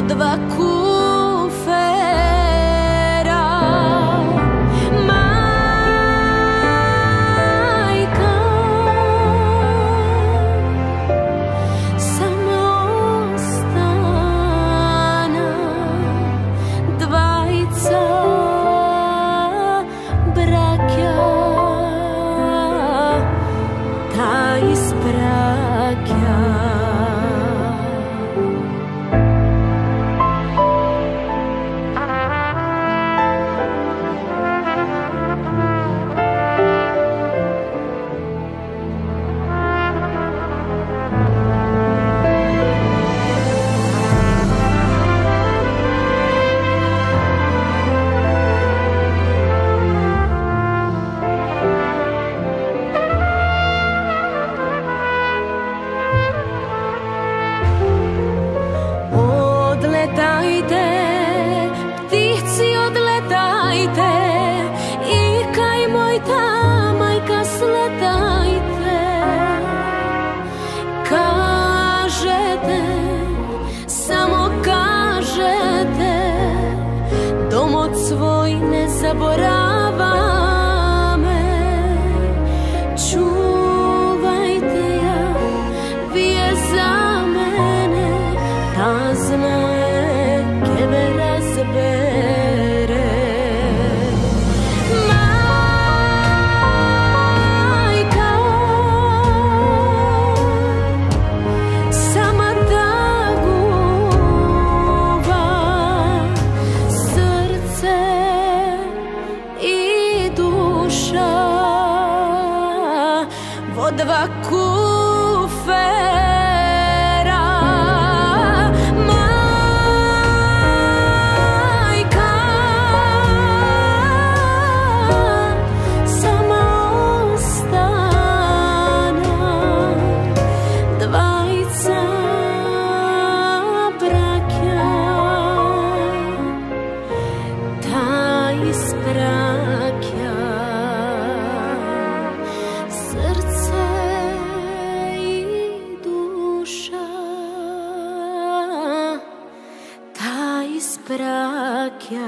два куфера. Мајка, само остана двајца браќа, та испраќа. Одлетајте, птици, одлетајте, и кај мојта мајка слетајте. Кажете, само кажете, домот свој не забораваме. Чувајте ја, вие за мене, та знае ке ме разбере. Мајка, сама тагува срце и душа во два куфера. Мајка, само остана двајца браќа, та испраќа срце и душа, та испраќа.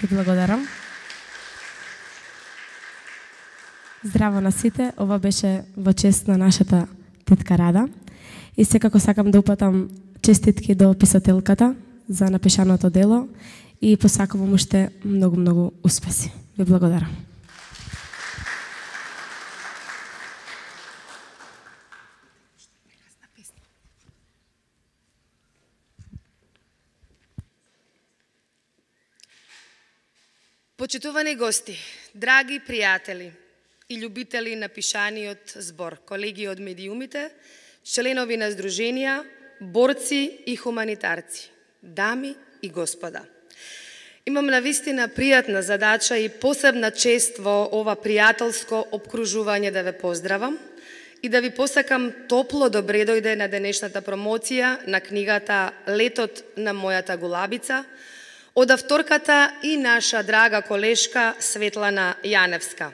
Ви благодарам. Здраво на сите, ова беше во чест на нашата тетка Рада. И секако сакам да упатам честитки до писателката за напишаното дело и посакувам уште многу успеси. Ви благодарам. Почитувани гости, драги пријатели и љубители на пишаниот збор, колеги од медиумите, членови на здруженија, борци и хуманитарци, дами и господа. Имам навистина пријатна задача и посебна чест во ова пријателско обкружување да ве поздравам и да ви посакам топло добре дојде на денешната промоција на книгата Летот на мојата гулабица, од авторката и наша драга колешка Светлана Јаневска.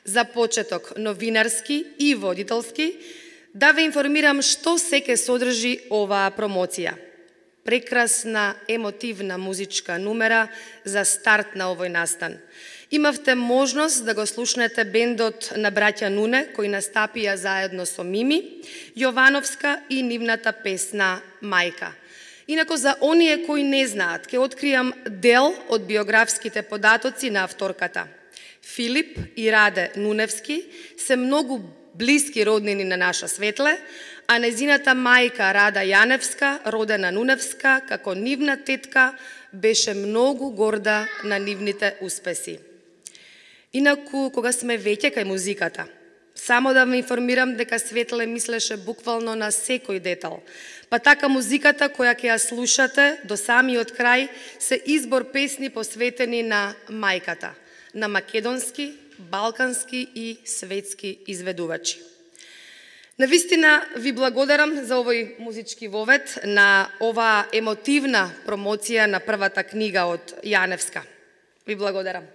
За почеток новинарски и водителски, да ве информирам што се ке содржи оваа промоција. Прекрасна, емотивна музичка нумера за старт на овој настан. Имавте можност да го слушнете бендот на браќа Нуне, кои настапија заедно со Мими Јовановска и нивната песна Мајка. Инако за оние кои не знаат, ке откријам дел од биографските податоци на авторката. Филип и Раде Нуневски се многу блиски роднини на наша Светле, а незината мајка Рада Јаневска, родена Нуневска, како нивна тетка, беше многу горда на нивните успеси. Инаку, кога сме веќе кај музиката, само да ме информирам дека Светле мислеше буквално на секој детал. Па така музиката која ќе ја слушате до самиот крај се избор песни посветени на мајката, на македонски, балкански и светски изведувачи. Навистина ви благодарам за овој музички вовед, на ова емотивна промоција на првата книга од Јаневска. Ви благодарам.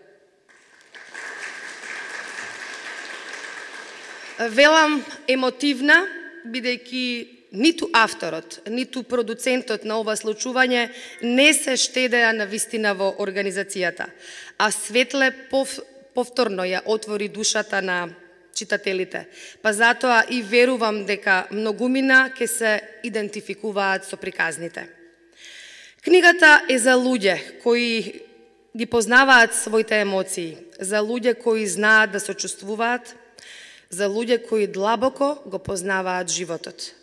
Велам емотивна, бидејќи ниту авторот, ниту продуцентот на ова случување не се штедеа на вистина во организацијата, а Светле повторно ја отвори душата на читателите, па затоа и верувам дека многумина ќе се идентификуваат со приказните. Книгата е за луѓе кои ги познаваат своите емоции, за луѓе кои знаат да се чувствуваат, за луѓе кои длабоко го познаваат животот.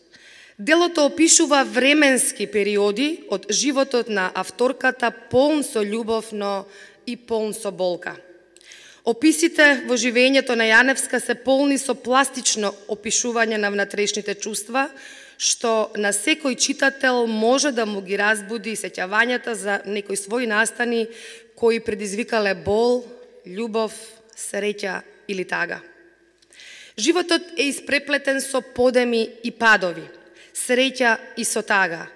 Делото опишува временски периоди од животот на авторката, полн со љубов, но и полн со болка. Описите во живењето на Јаневска се полни со пластично опишување на внатрешните чувства, што на секој читател може да му ги разбуди сеќавањата за некои своји настани кои предизвикале бол, љубов, среќа или тага. Животот е испреплетен со подеми и падови, среќа и со тага,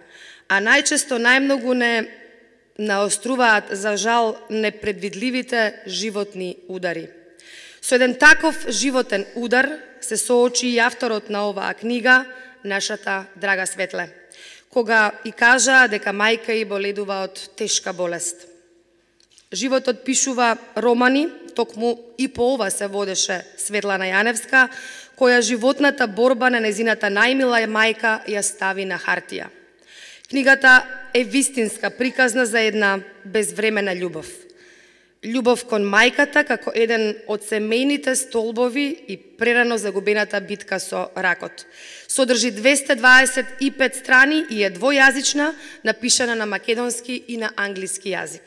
а најчесто најмногу не наоструваат за жал непредвидливите животни удари. Со еден таков животен удар се соочи и авторот на оваа книга, нашата драга Светле, кога и кажа дека мајка и боледува од тешка болест. Животот пишува романи, токму и по ова се водеше Светлана Јаневска, која животната борба на незината најмила мајка ја стави на хартија. Книгата е вистинска приказна за една безвремена љубов. Љубов кон мајката како еден од семејните столбови и прерано загубената битка со ракот. Содржи 225 страни и е двојазична, напишана на македонски и на англиски јазик.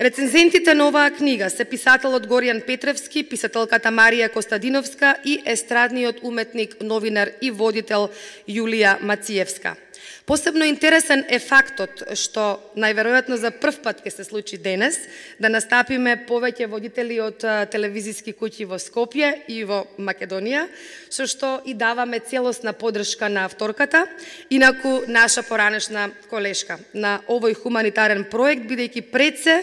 Рецензентите на оваа книга се писателот Горијан Петревски, писателката Марија Костадиновска и естрадниот уметник, новинар и водител Јулија Мациевска. Посебно интересен е фактот што најверојатно за прв пат ќе се случи денес да настапиме повеќе водители од телевизиски куќи во Скопје и во Македонија, со што и даваме целосна поддршка на авторката, инаку наша поранешна колешка на овој хуманитарен проект, бидејќи пред се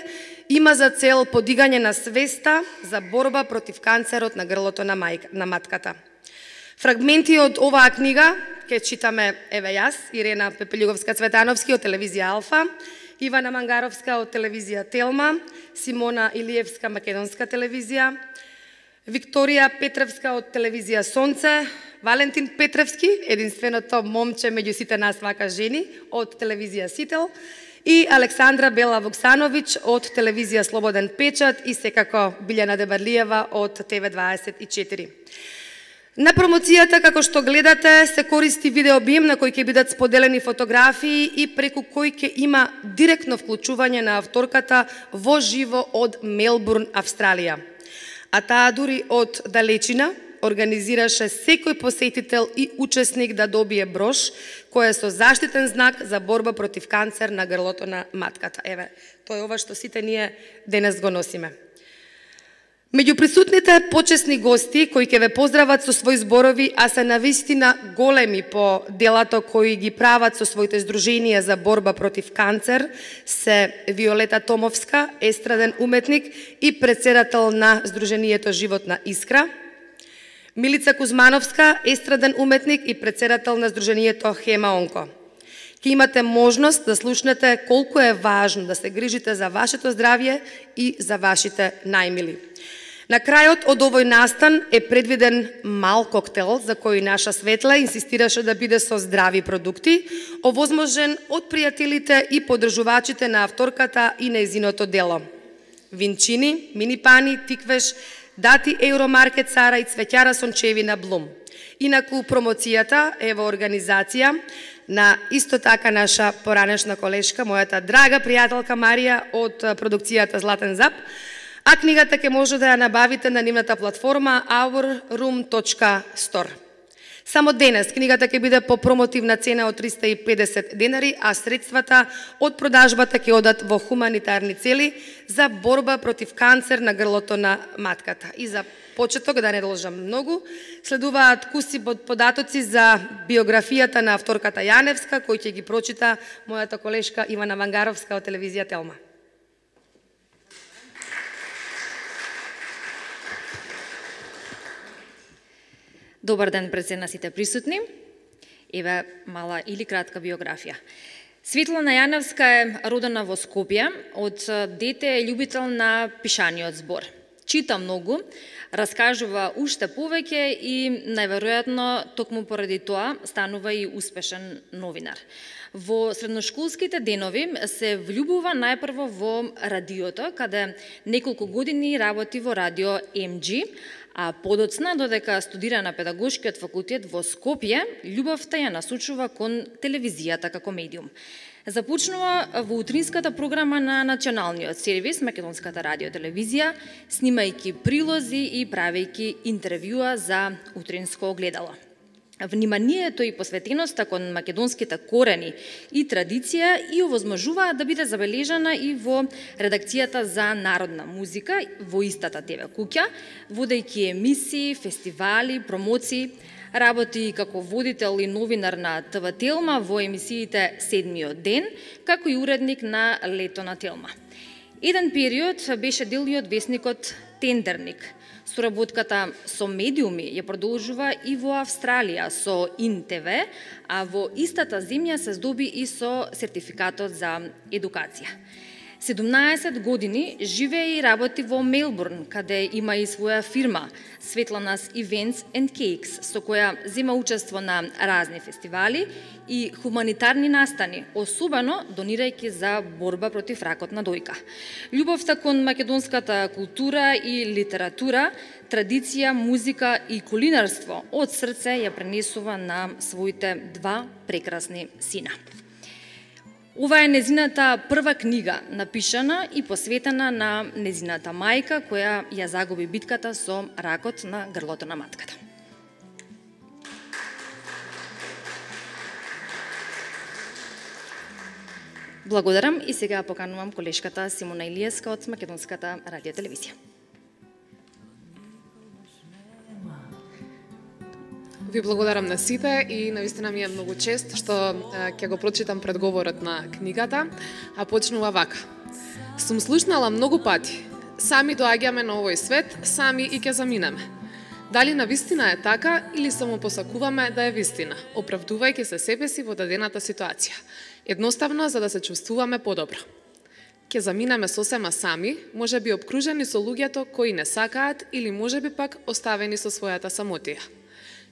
има за цел подигање на свеста за борба против канцерот на грлото на матката. Фрагменти од оваа книга ќе читаме еве јас, Ирена Пепелјуговска-Цветановски од телевизија Алфа, Ивана Мангаровска од телевизија Телма, Симона Илиевска, македонска телевизија, Викторија Петревска од телевизија Сонце, Валентин Петревски, единственото момче меѓу сите нас вака жени, од телевизија Сител, и Александра Бела Вуксановиќ од телевизија Слободен печат и секако Билјана Дебарлиева од ТВ24. На промоцијата, како што гледате, се користи видеобим на кој ќе бидат споделени фотографии и преку кој ќе има директно вклучување на авторката во живо од Мелбурн, Австралија. А таа дури од далечина организираше секој посетител и учесник да добие брош, кој е со заштитен знак за борба против канцер на грлото на матката. Еве, тоа е ова што сите ние денес го носиме. Меѓу присутните почесни гости кои ќе ве поздрават со своји зборови, а се навистина големи по делато кои ги прават со своите здруженија за борба против канцер, се Виолета Томовска, естраден уметник и председател на Здруженијето Животна искра, Милица Кузмановска, естраден уметник и председател на Здруженијето Хема Онко. Ке имате можност да слушнете колку е важно да се грижите за вашето здравје и за вашите најмили. На крајот од овој настан е предвиден мал коктел за кој наша Светла инсистираше да биде со здрави продукти, овозможен од пријателите и поддржувачите на авторката и нејзиното дело. Винчини, минипани, тиквеш, дати Евромаркет Сара и цвеќара сончевина Блум. Инаку промоцијата е во организација на исто така наша поранешна колешка, мојата драга пријателка Марија од продукцијата Златен Зап, а книгата ќе може да ја набавите на нивната платформа ourroom.store. Само денес книгата ќе биде по промотивна цена од 350 денари, а средствата од продажбата ќе одат во хуманитарни цели за борба против канцер на грлото на матката. И за почеток, да не должам многу, следуваат куси податоци за биографијата на авторката Јаневска, кој ќе ги прочита мојата колешка Ивана Вангаровска од телевизија Телма. Добар ден пред се на сите присутни. Еве мала или кратка биографија. Светлана Јаневска е родена во Скопје, од дете е љубител на пишаниот збор. Чита многу, раскажува уште повеќе и најверојатно токму поради тоа станува и успешен новинар. Во средношколските денови се влюбува најпрво во радиото, каде неколку години работи во радио МГ, а подоцна, додека студира на педагошкиот факултет во Скопје, љубовта ја насочува кон телевизијата како медиум. Започнува во утринската програма на националниот сервис, Македонската радиотелевизија, снимајќи прилози и правејќи интервјуа за утринско огледало. Вниманието и посветеноста кон македонските корени и традиција и овозможуваат да биде забележана и во редакцијата за народна музика во истата ТВ куќа, водејќи емисии, фестивали, промоции, работи како водител и новинар на ТВ Телма во емисиите Седмиот ден, како и уредник на Лето на Телма. Еден период беше дел и од весникот Тендерник. Соработката со медиуми ја продолжува и во Австралија со ИН-ТВ, а во истата земја се здоби и со сертификатот за едукација. 17 години живее и работи во Мелбурн, каде има и своја фирма Светланас Events and Cakes, со која зема учество на разни фестивали и хуманитарни настани, особено донирајќи за борба против ракот на дојка. Љубовта кон македонската култура и литература, традиција, музика и кулинарство од срце ја пренесува на своите два прекрасни сина. Ова е незината прва книга, напишана и посветена на незината мајка, која ја загуби битката со ракот на грлото на матката. Благодарам и сега поканувам колешката Симона Илиевска од Македонската радиотелевизија. Ви благодарам на сите и навистина ми е многу чест што ќе го прочитам предговорот на книгата, а почнува вака. Сум слушнала многу пати. Сами доаѓаме на овој свет, сами и ќе заминеме. Дали навистина е така или само посакуваме да е вистина, оправдувајќи се себе си во дадената ситуација. Едноставно за да се чувствуваме подобро. Ќе заминеме сосема сами, можеби обкружени со луѓето кои не сакаат или можеби пак оставени со својата самотија.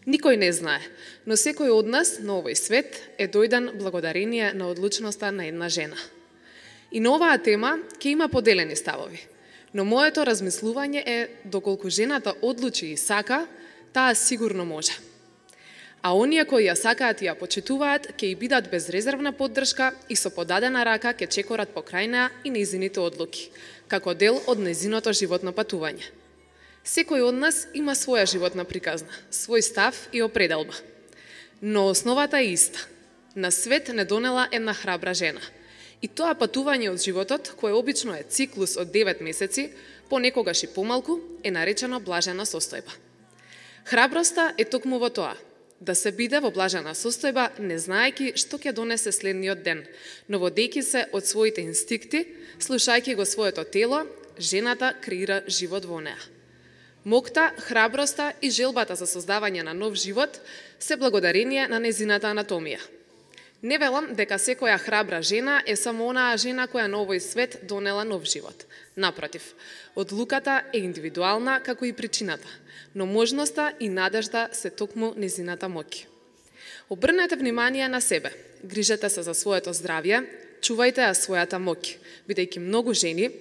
Никој не знае, но секој од нас на овој свет е дојден благодарение на одлучноста на една жена. И на оваа тема ќе има поделени ставови, но моето размислување е доколку жената одлучи и сака, таа сигурно може. А оние кои ја сакаат и ја почитуваат, ќе и бидат безрезервна поддршка и со подадена рака ќе чекорат покрај неа и нејзините одлуки, како дел од нејзиното животно патување. Секој од нас има своја животна приказна, свој став и определба. Но основата е иста. На свет не донела една храбра жена. И тоа патување од животот, кое обично е циклус од 9 месеци, понекогаш и помалку, е наречено блажена состојба. Храброста е токму во тоа, да се биде во блажена состојба, не знаејќи што ќе донесе следниот ден, но водејќи се од своите инстинкти, слушајќи го своето тело, жената креира живот во неа. Мокта, храброста и желбата за создавање на нов живот се благодарение на незината анатомија. Не велам дека секоја храбра жена е само онаа жена која на овој свет донела нов живот. Напротив, одлуката е индивидуална како и причината, но можноста и надежда се токму незината моќ. Обрнете внимание на себе, грижете се за своето здравје, чувајте ја својата моќ, бидејќи многу жени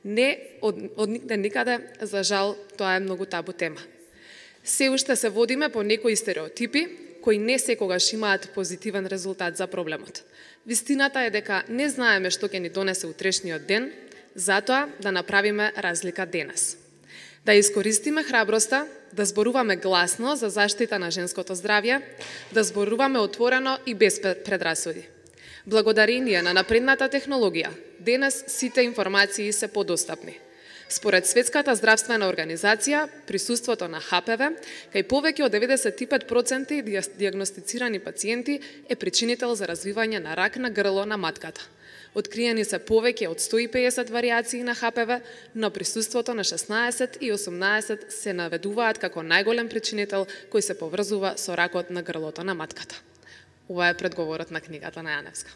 не од никаде, за жал, тоа е многу табу тема. Се уште се водиме по некои стереотипи, кои не секогаш имаат позитивен резултат за проблемот. Вистината е дека не знаеме што ќе ни донесе утрешниот ден, затоа да направиме разлика денес. Да искористиме храброста, да зборуваме гласно за заштита на женското здравје, да зборуваме отворено и без предрасуди. Благодарение на напредната технологија, денес сите информации се подостапни. Според Светската здравствена организација, присуството на ХПВ кај повеќе од 95% дијагностицирани пациенти е причинител за развивање на рак на грло на матката. Откриени се повеќе од 150 варијации на ХПВ, но присуството на 16 и 18 се наведуваат како најголем причинител кој се поврзува со ракот на грлото на матката. Ова е предговорот на книгата на Јаневска.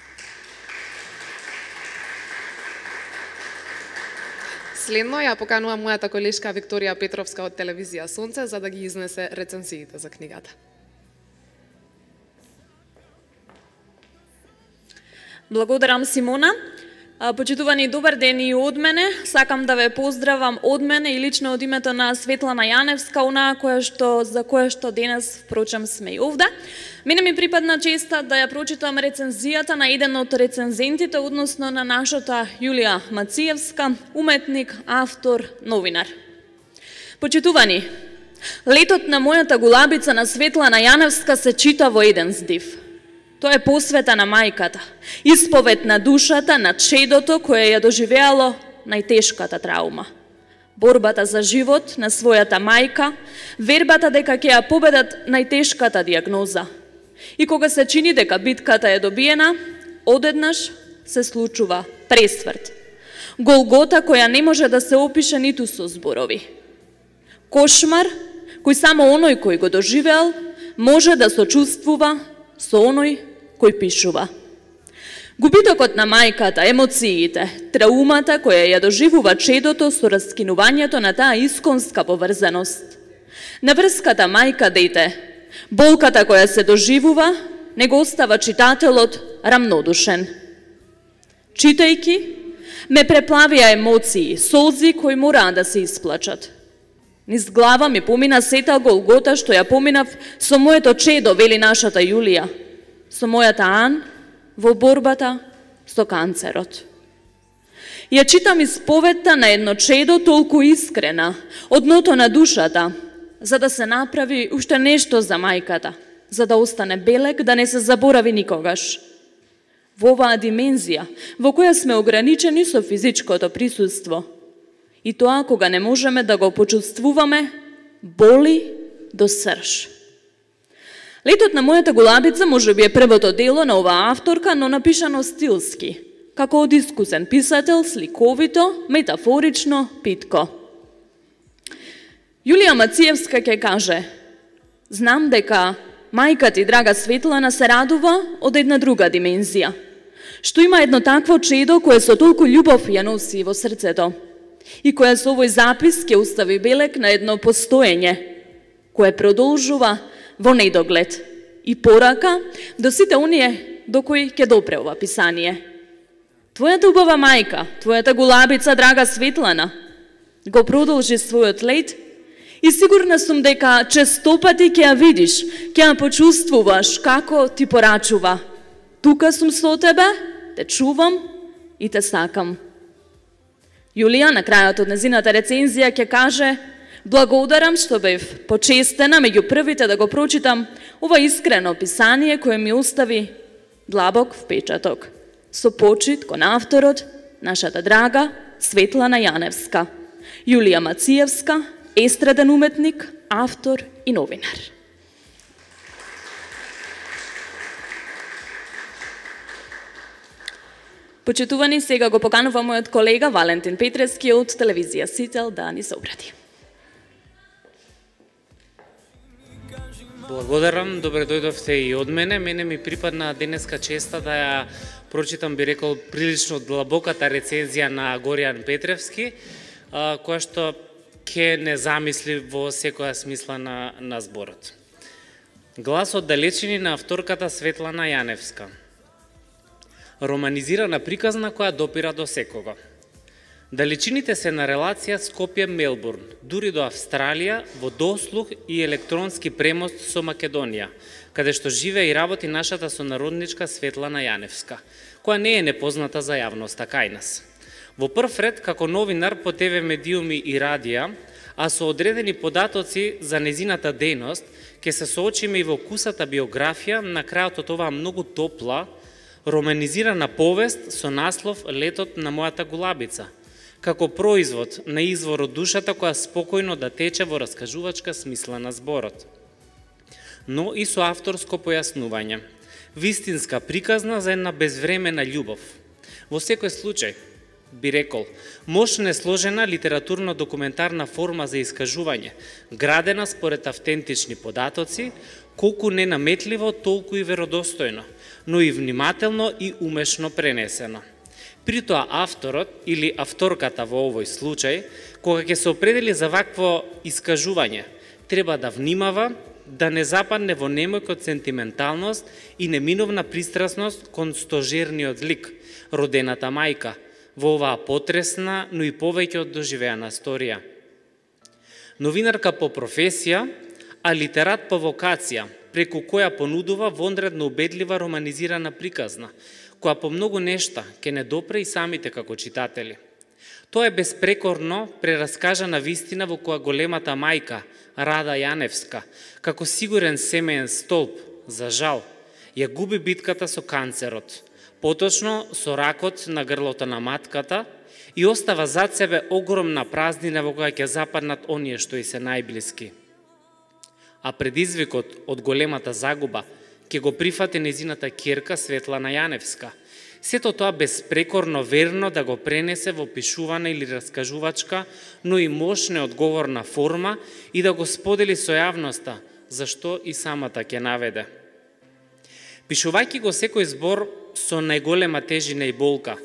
Следно ја поканувам мојата колешка Викторија Петровска од телевизија Сонце за да ги изнесе рецензиите за книгата. Благодарам, Симона. Почитувани, добар ден и од мене. Сакам да ве поздравам од мене и лично од името на Светлана Јаневска, онаа за која што денес, впрочем, сме и овде. Мене ми припадна честа да ја прочитам рецензијата на еден од рецензентите, односно на нашата Јулија Мациевска, уметник, автор, новинар. Почитувани, летот на мојата гулабица на Светлана Јаневска се чита во еден здив. Тоа е посвета на мајката, исповед на душата, на чедото кое ја доживеало најтешката траума. Борбата за живот на својата мајка, вербата дека ќе ја победат најтешката дијагноза. И кога се чини дека битката е добиена, одеднаш се случува пресврт. Голгота која не може да се опише ниту со зборови. Кошмар кој само оној кој го доживеал може да сочувствува со оној кој пишува. Губитокот на мајката, емоциите, траумата која ја доживува чедото со раскинувањето на таа исконска поврзаност. Наврската мајка-дете, болката која се доживува, не го остава читателот рамнодушен. Читајки, ме преплавија емоции, солзи кои мораа да се исплачат. Низ глава ми помина сета голгота што ја поминав со моето чедо, вели нашата Јулија, со мојата Ан во борбата со канцерот. Ја читам исповетта на едно чедо толку искрена, од дното на душата, за да се направи уште нешто за мајката, за да остане белег, да не се заборави никогаш. Во оваа димензија, во која сме ограничени со физичкото присуство, и тоа кога не можеме да го почувствуваме, боли до срж. Летот на мојата гулабица може би е првото дело на оваа авторка, но напишано стилски, како од искусен писател, сликовито, метафорично, питко. Јулија Мациевска ќе каже: знам дека мајка ти, драга Светлана, се радува од една друга димензија, што има едно такво чедо кое со толку љубов ја носи во срцето и која со овој запис ќе остави белег на едно постоење кое продолжува во недоглед и порака до сите оние до кои ќе допре ова писание. Твојата убава мајка, твојата гулабица, драга Светлана, го продолжи својот лет и сигурна сум дека честопати ќе ја видиш, ќе ја почувствуваш како ти порачува: тука сум со тебе, те чувам и те сакам. Јулија на крајот од незината рецензија ќе каже: благодарам што бев почестена меѓу првите да го прочитам ова искрено писание кое ми остави длабок впечаток. Со почит кон авторот, нашата драга Светлана Јаневска. Јулија Мациевска, естраден уметник, автор и новинар. Почитувани, сега го поканува мојот колега Валентин Петревски од телевизија Сител да ни се обрати. Благодарам, добре дојдовте и од мене. Мене ми припадна денеска честа да ја прочитам, би рекол, прилично длабоката рецензија на Горијан Петревски, која што ќе не замисли во секоја смисла на зборот. Гласот далечини на авторката Светлана Јаневска. Романизирана приказна која допира до секого. Далечините се на релација Скопје-Мелбурн, дури до Австралија, во дослух и електронски премост со Македонија, каде што живее и работи нашата сонародничка Светлана Јаневска, која не е непозната за јавноста кај нас. Во прв ред, како новинар по ТВ медиуми и радија, а со одредени податоци за незината дејност, ќе се соочиме и во кусата биографија на крајот од оваа многу топла, романизирана повест со наслов Летот на мојата гулабица, како производ на извор од душата која спокојно да тече во раскажувачка смисла на зборот. Но и со авторско појаснување, вистинска приказна за една безвремена љубов. Во секој случај, би рекол, мощно сложена литературно-документарна форма за искажување, градена според автентични податоци, колку ненаметливо, толку и веродостојно, но и внимателно и умешно пренесено. При тоа авторот или авторката во овој случај, кога ќе се определи за вакво искажување, треба да внимава да не западне во немојкот сентименталност и неминовна пристрасност кон стожерниот лик, родената мајка, во оваа потресна, но и повеќе од доживеана сторија. Новинарка по професија, а литерат по вокација, преку која понудува вонредно убедлива романизирана приказна, која по многу нешта ќе не допре и самите како читатели. Тоа е безпрекорно прераскажана вистина во која големата мајка, Рада Јаневска, како сигурен семеен столб, за жал, ја губи битката со канцерот, поточно со ракот на грлото на матката и остава зад себе огромна празнина во која ќе западнат оние што и се најблиски. А предизвикот од големата загуба ќе го прифати незината ќерка Светлана Јаневска. Сето тоа безпрекорно верно да го пренесе во пишувана или раскажувачка, но и мощна одговорна форма и да го сподели со јавноста, зашто и самата ќе наведе. Пишувајќи го секој збор со најголема тежина и болка,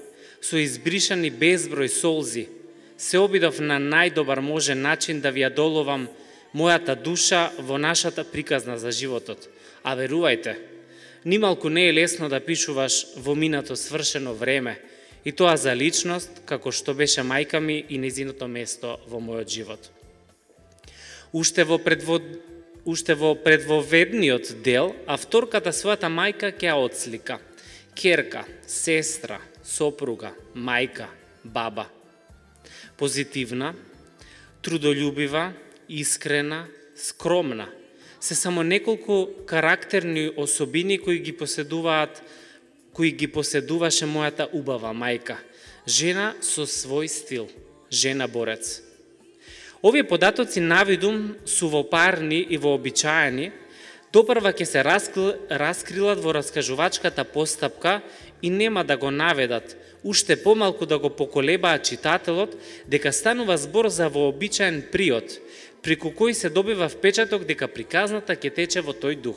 со избришани безброј солзи, се обидов на најдобар можен начин да ви ја доловам мојата душа во нашата приказна за животот. А верувајте, нималку не е лесно да пишуваш во минато свршено време, и тоа за личност, како што беше мајка ми и незиното место во мојот живот. Уште во предвоведниот дел, авторката својата мајка ќе ја отслика. Ќерка, сестра, сопруга, мајка, баба. Позитивна, трудолюбива, искрена, скромна, се само неколку карактерни особини кои ги поседуваше мојата убава мајка. Жена со свој стил, жена борец. Овие податоци навидум су вопарни и вообичаени, допрва ќе се раскрилат во раскажувачката постапка и нема да го наведат, уште помалку да го поколебаат читателот, дека станува збор за вообичаен приод, преку кој се добива впечаток дека приказната ќе тече во тој дух.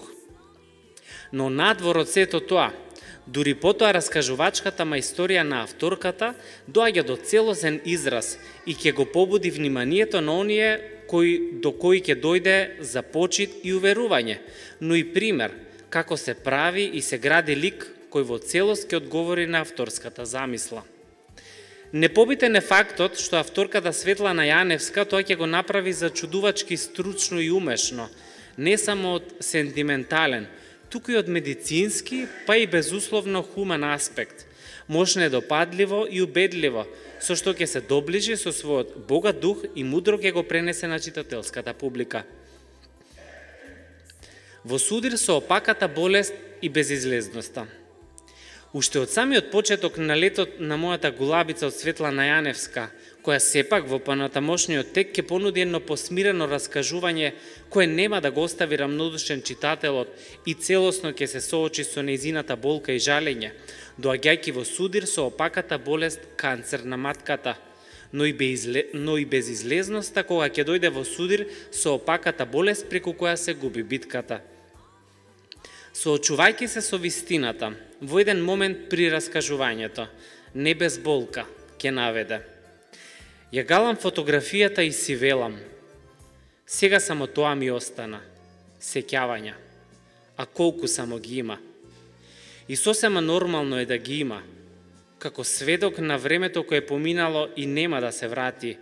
Но надвор од сето тоа, дури потоа раскажувачката мајсторија на авторката доаѓа до целосен израз и ќе го побуди вниманието на оние до кои ќе дојде за почит и уверување, но и пример како се прави и се гради лик кој во целост ќе одговори на авторската замисла. Непобитен е фактот што авторката Светлана Јаневска тоа ќе го направи зачудувачки стручно и умешно, не само од сентиментален, туку и од медицински, па и безусловно хумен аспект, можно е допадливо и убедливо, со што ќе се доближи со својот богат дух и мудро ќе го пренесе на читателската публика. Во судир со опаката болест и безизлезноста. Уште од самиот почеток на Летот на мојата гулабица од Светлана Јаневска, која сепак во понатамошниот тек ќе понуди едно посмирено раскажување кое нема да го остави рамнодушен читателот и целосно ќе се соочи со нејзината болка и жалење, доаѓајќи во судир со опаката болест канцер на матката, но и безизлезноста кога ќе дојде во судир со опаката болест преку која се губи битката. Соочувајќи се со вистината, во еден момент при раскажувањето, не без болка, ќе наведе. Ја галам фотографијата и си велам. Сега само тоа ми остана. Сеќавања. А колку само ги има. И сосема нормално е да ги има, како сведок на времето кое е поминало и нема да се врати,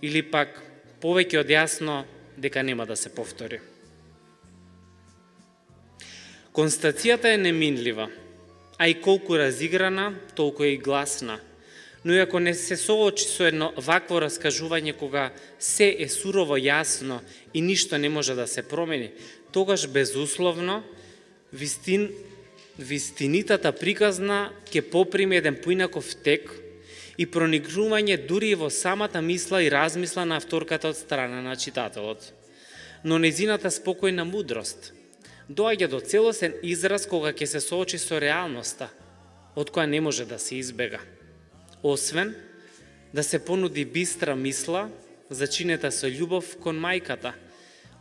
или пак повеќе од јасно дека нема да се повтори. Констацијата е неминлива, а и колку разиграна, толку е и гласна. Но и ако не се соочи со едно вакво раскажување кога се е сурово јасно и ништо не може да се промени, тогаш безусловно вистинитата приказна ќе поприме еден поинаков тек и проникнување дури и во самата мисла и размисла на авторката од страна на читателот. Но нејзината спокојна мудрост доаѓа до целосен израз кога ќе се соочи со реалноста, од која не може да се избега. Освен да се понуди бистра мисла зачинета со љубов кон мајката,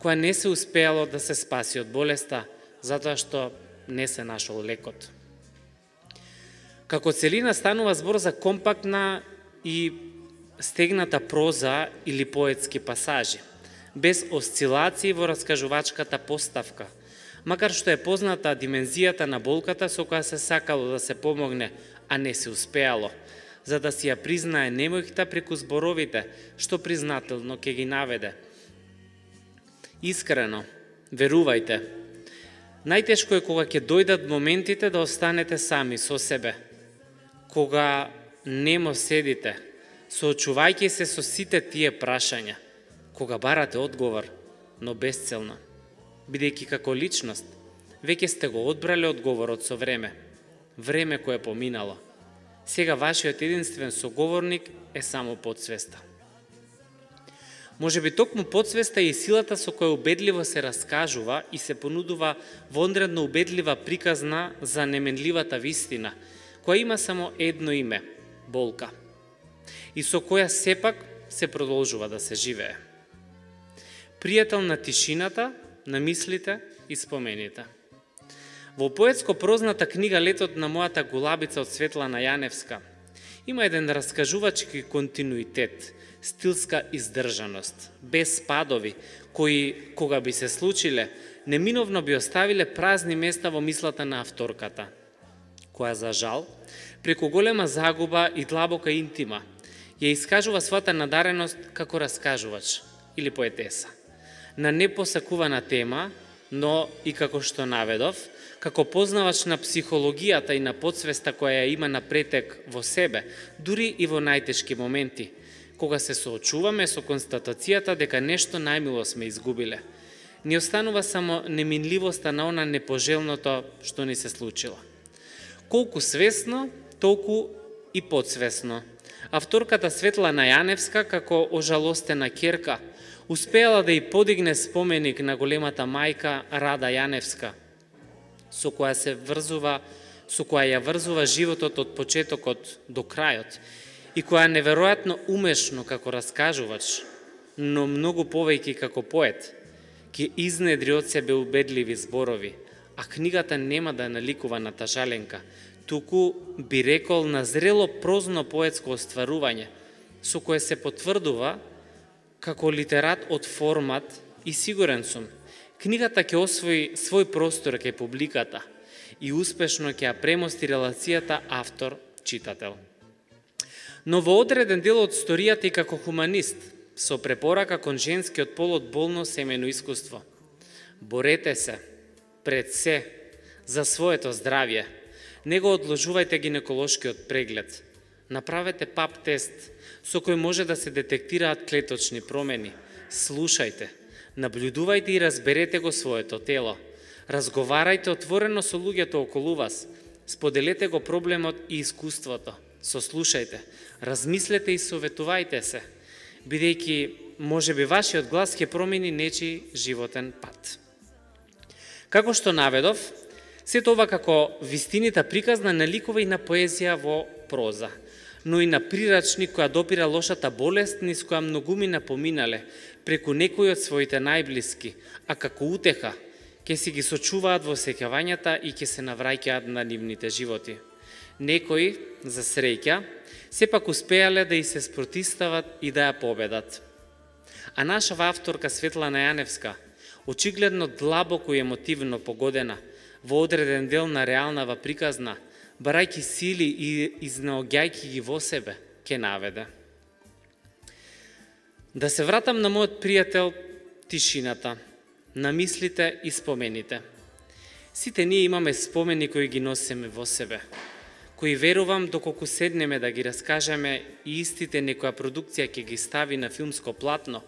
која не се успеало да се спаси од болеста, затоа што не се нашол лекот. Како целина станува збор за компактна и стегната проза или поетски пасажи, без осцилации во раскажувачката поставка, макар што е позната димензијата на болката со која се сакало да се помогне, а не се успеало, за да си ја признае немојкта преку зборовите, што признателно ќе ги наведе. Искрено, верувајте, најтешко е кога ќе дојдат моментите да останете сами со себе, кога немо седите, соочувајќи се со сите тие прашања, кога барате одговор, но безцелно, бидејќи како личност, веќе сте го одбрале одговорот со време кое е поминало. Сега вашиот единствен соговорник е само подсвеста. Може би токму подсвеста е и силата со која убедливо се раскажува и се понудува вонредно убедлива приказна за неменливата вистина, која има само едно име – болка, и со која сепак се продолжува да се живее. Пријател на тишината, на мислите и спомените. Во поетско-прозната книга Летот на мојата гулабица од Светлана Јаневска има еден раскажувачки континуитет, стилска издржаност, без спадови, кои, кога би се случиле, неминовно би оставиле празни места во мислата на авторката, која за жал, преку голема загуба и длабока интима, ја искажува својата надареност како раскажувач или поетеса, на непосакувана тема, но и како што наведов, како познавач на психологијата и на подсвеста која ја има на претек во себе, дури и во најтешки моменти, кога се соочуваме со констатацијата дека нешто најмило сме изгубиле. Ни останува само неминливоста на она непожелното што ни се случило. Колку свесно, толку и подсвесно. Авторката Светлана Јаневска, како ожалостена ќерка, успеала да ја подигне споменик на големата мајка Рада Јаневска, со која ја врзува животот од почетокот до крајот и која неверојатно умешно како раскажувач, но многу повеќе како поет, ќе изнедри од себе убедливи зборови, а книгата нема да наликува на тажаленка, туку би рекол на зрело прозно поетско остварување, со кое се потврдува како литерат од формат и сигурен сум, книгата ќе освои свој простор кај публиката и успешно ќе ја премости релацијата автор-читател. Но во одреден дел од историјата и како хуманист, со препорака кон женскиот пол од болно семено искуство. Борете се, пред се, за своето здравје. Не го одложувајте гинеколошкиот преглед. Направете пап тест, со кој може да се детектираат клеточни промени. Слушајте, наблюдувајте и разберете го своето тело. Разговарајте отворено со луѓето околу вас. Споделете го проблемот и искуството. Сослушајте, размислете и советувајте се, бидејќи можеби вашиот глас ќе промени нечи животен пат. Како што наведов, сето ова како вистинита приказна наликува и на поезија во проза, но и на прирачник која допира лошата болест низ која многумина поминале преку некои од своите најблиски, а како утеха ќе си ги сочуваат во сеќавањата и ќе се навраќаат на нивните животи. Некои, за среќа, сепак успеале да и се спротистават и да ја победат. А нашава авторка Светлана Јаневска, очигледно длабоко и емотивно погодена, во одреден дел на реалнава приказна, барајќи сили и изнаоѓајќи ги во себе, ќе наведе. Да се вратам на мојот пријател тишината, на мислите и спомените. Сите ние имаме спомени кои ги носиме во себе, кои верувам доколку седнеме да ги раскажеме и истите некоја продукција ќе ги стави на филмско платно,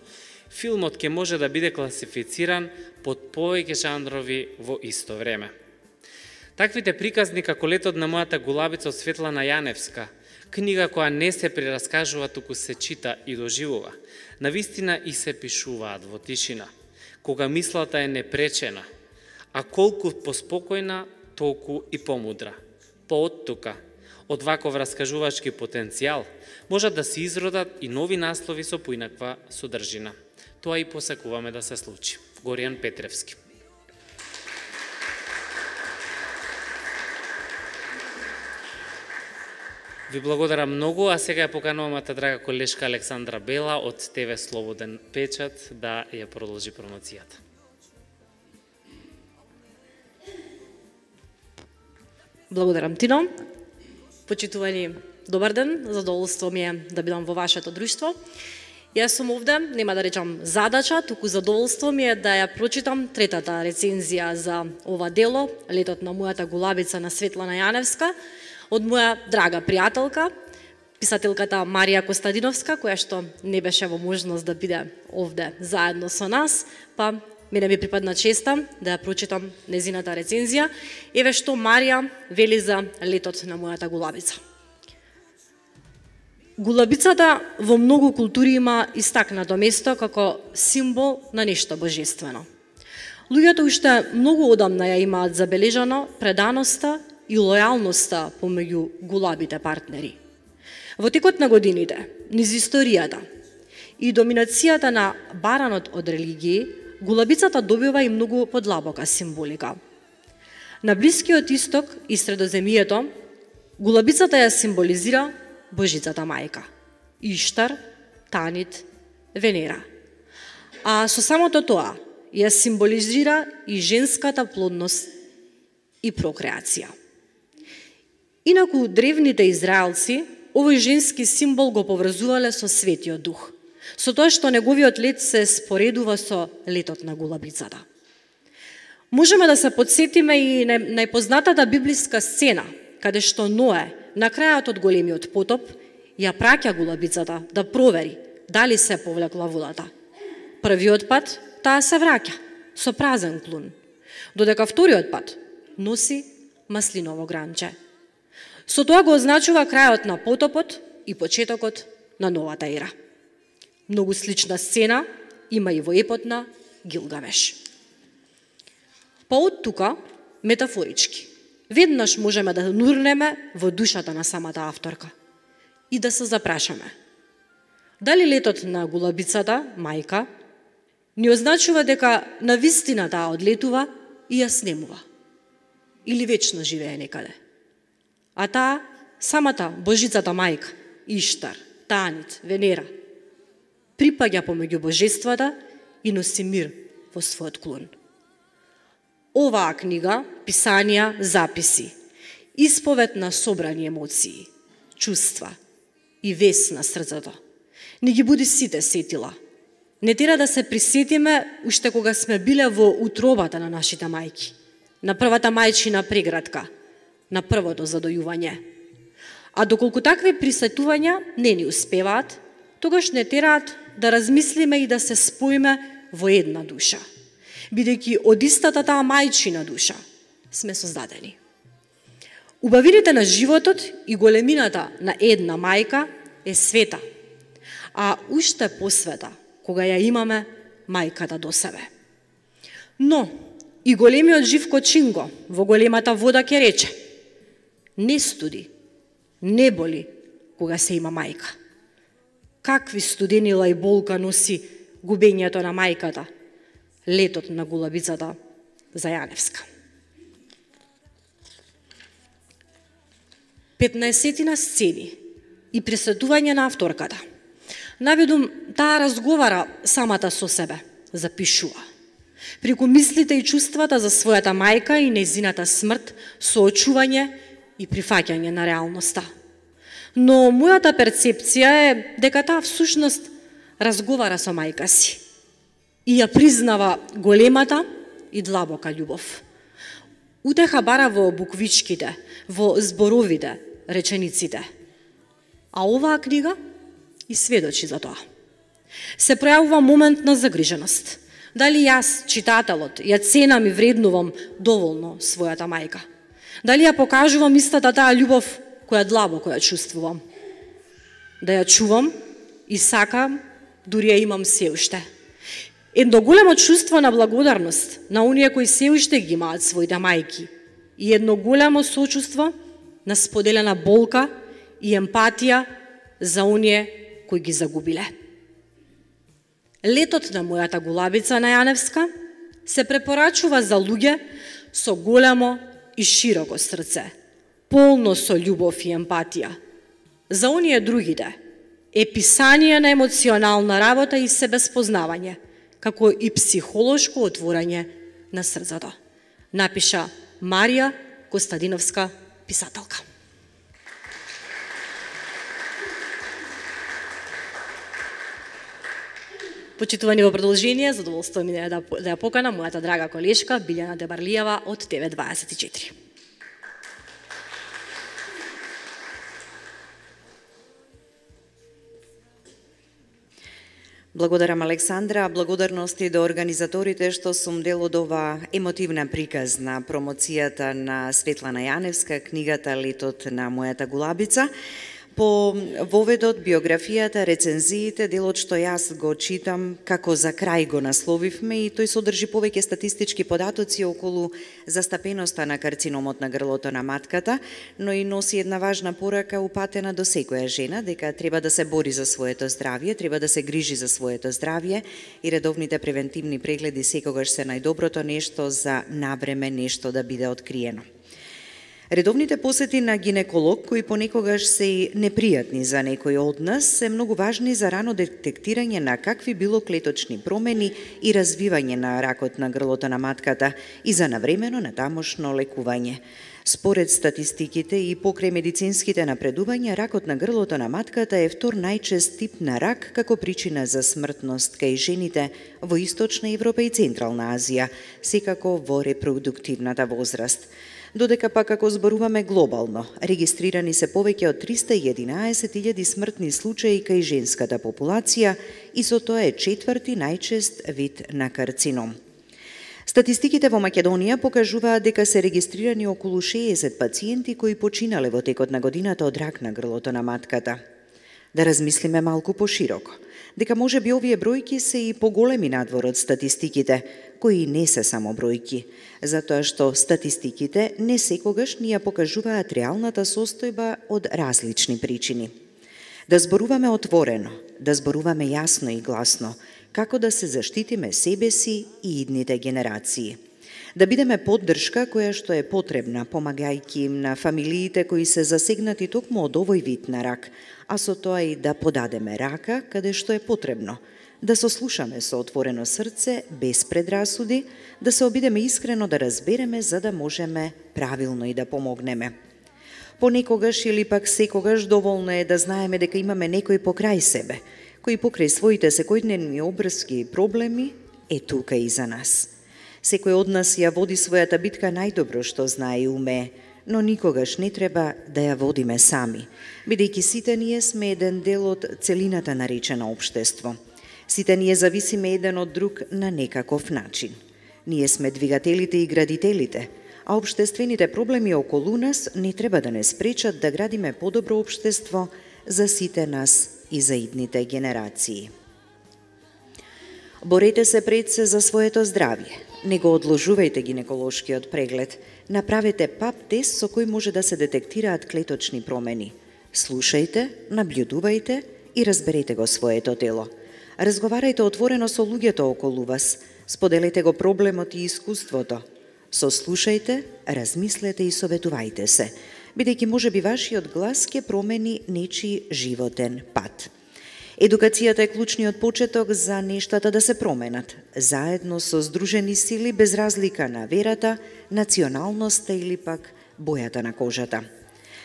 филмот ќе може да биде класифициран под повеќе жанрови во исто време. Таквите приказни како Летот на мојата гулабица од Светлана Јаневска, книга која не се прераскажува, туку се чита и доживува, навистина и се пишуваат во тишина, кога мислата е непречена, а колку поспокојна, толку и помудра. Пооттука, од ваков раскажувачки потенцијал, можат да се изродат и нови наслови со поинаква содржина. Тоа и посакуваме да се случи. Горијан Петревски. Ви благодарам многу, а сега ја поканувам мојата драга колешка Александра Бела од ТВ Слободен печат да ја продолжи промоцијата. Благодарам, Тино. Почитувани, добар ден, задоволство ми е да бидам во вашето друштво. Јас сум овде, нема да речам задача, туку задоволство ми е да ја прочитам третата рецензија за ова дело, Летот на мојата гулабица на Светлана Јаневска, од моја драга пријателка, писателката Марија Костадиновска, која што не беше во можност да биде овде заедно со нас, па мене ми припадна честа да ја прочитам незината рецензија. Еве што Марија вели за Летот на мојата гулабица. Гулабицата во многу култури има истакнато место како символ на нешто божествено. Луѓето уште многу одамна ја имаат забележано преданоста и лојалноста помеѓу гулабите партнери. Во текот на годините, низ историјата и доминацијата на баранот од религии, гулабицата добива и многу подлабока символика. На Блискиот Исток и Средоземјието, гулабицата ја символизира Божицата мајка, Иштар, Танит, Венера. А со самото тоа ја символизира и женската плодност и прокреација. Инаку древните израелци овој женски символ го поврзувале со Светиот Дух, со тоа што неговиот лет се споредува со летот на гулабицата. Можеме да се подсетиме и на најпознатата библиска сцена, каде што Ное, на крајот од големиот потоп, ја праќа гулабицата да провери дали се повлекла водата. Првиот пат таа се враќа со празен клун, додека вториот пат носи маслиново гранче. Со тоа го означува крајот на потопот и почетокот на новата ера. Многу слична сцена има и во епот на Гилгамеш. Па од тука, метафорички, веднаш можеме да нурнеме во душата на самата авторка и да се запрашаме. Дали летот на гулабицата, мајка, ни означува дека навистина таа одлетува и ја снемува? Или вечно живее некаде? А таа, самата Божицата мајка, Иштар, Танит, Венера, припаѓа помеѓу божествата и носи мир во својот клон. Оваа книга, писанија, записи, исповед на собрани емоции, чувства и вес на срцето, не ги буди сите сетила. Не тера да се присетиме уште кога сме биле во утробата на нашите мајки, на првата мајчина преградка, на првото задојување. А доколку такви присетувања не ни успеваат, тогаш не тераат да размислиме и да се споиме во една душа, бидејќи од истата таа мајчина душа сме создадени. Убавините на животот и големината на една мајка е света, а уште посвета кога ја имаме мајката до себе. Но и големиот Живко Чинго во големата вода ќе рече: не студи, не боли кога се има мајка. Какви студенила и болка носи губењето на мајката, летот на гулабицата за Јаневска. 15 сцени и пресетување на авторката. Наведум, таа разговара самата со себе, запишува. Преку мислите и чувствата за својата мајка и нејзината смрт, соочување и прифаќање на реалноста. Но мојата перцепција е дека таа всушност разговара со мајка си и ја признава големата и длабока љубов. Утеха бара во буквичките, во зборовите, речениците. А оваа книга и сведочи за тоа. Се пројавува момент на загриженост. Дали јас, читателот, ја ценам и вреднувам доволно својата мајка? Дали ја покажувам истата таа љубов која длабоко ја чувствувам? Да ја чувам и сакам, дури ја имам се уште. Едно големо чувство на благодарност на оние кои се уште ги имаат своите мајки и едно големо сочувство на споделена болка и емпатија за оние кои ги загубиле. Летот на мојата гулабица на Јаневска се препорачува за луѓе со големо и широко срце, полно со љубов и емпатија. За оние другите е писание на емоционална работа и себеспознавање, како и психолошко отворање на срцето. Напиша Марија Костадиновска, писателка. Почитувани во продолжение, задоволство ми е да ја поканам мојата драга колешка Билјана Дебарлиева од TV24. Благодарам, Александра. Благодарности до организаторите што сум дел од ова емотивна приказ на промоцијата на Светлана Јаневска, книгата Летот на мојата гулабица. По воведот, биографијата, рецензиите, делот што јас го читам, како за крај го насловивме, и тој содржи повеќе статистички податоци околу застапеноста на карциномот на грлото на матката, но и носи една важна порака упатена до секоја жена, дека треба да се бори за своето здравје, треба да се грижи за своето здравје и редовните превентивни прегледи секогаш се најдоброто нешто за навреме нешто да биде откриено. Редовните посети на гинеколог, кои понекогаш се и непријатни за некои од нас, се многу важни за рано детектирање на какви било клеточни промени и развивање на ракот на грлото на матката и за навремено натамошно лекување. Според статистиките и покрај медицинските напредувања, ракот на грлото на матката е втор најчест тип на рак како причина за смртност кај жените во Источна Европа и Централна Азија, секако во репродуктивната возраст. Додека пак ако зборуваме глобално, регистрирани се повеќе од 311.000 смртни случаи кај женската популација и со тоа е четврти најчест вид на карцином. Статистиките во Македонија покажуваат дека се регистрирани околу 60 пациенти кои починале во текот на годината од рак на грлото на матката. Да размислиме малку пошироко, дека може би овие бројки се и поголеми надвор од статистиките, кои не се само бројки, затоа што статистиките не секогаш ни ја покажуваат реалната состојба од различни причини. Да зборуваме отворено, да зборуваме јасно и гласно, како да се заштитиме себе си и идните генерации. Да бидеме поддршка која што е потребна, помагајќи им на фамилиите кои се засегнати токму од овој вид на рак, а со тоа и да подадеме рака каде што е потребно, да сослушаме со отворено срце, без предрасуди, да се обидеме искрено да разбереме за да можеме правилно и да помогнеме. Понекогаш или пак секогаш доволно е да знаеме дека имаме некој покрај себе, кој покрај своите секојдневни обврски и проблеми е тука и за нас. Секој од нас ја води својата битка најдобро што знае и умее, но никогаш не треба да ја водиме сами, бидејќи сите ние сме еден дел од целината наречена општество. Сите ние зависиме еден од друг на некаков начин. Ние сме двигателите и градителите, а општествените проблеми околу нас не треба да не спречат да градиме подобро општество за сите нас и за идните генерации. Борете се пред се за своето здравје. Не го одложувајте гинеколошкиот преглед. Направете ПАП тест со кој може да се детектираат клеточни промени. Слушајте, наблюдувајте и разберете го своето тело. Разговарајте отворено со луѓето околу вас. Споделете го проблемот и искуството. Сослушајте, размислете и советувајте се, бидејќи може би вашиот глас ќе промени нечи животен пат. Едукацијата е клучниот почеток за нештата да се променат, заедно со здружени сили без разлика на верата, националноста или пак бојата на кожата.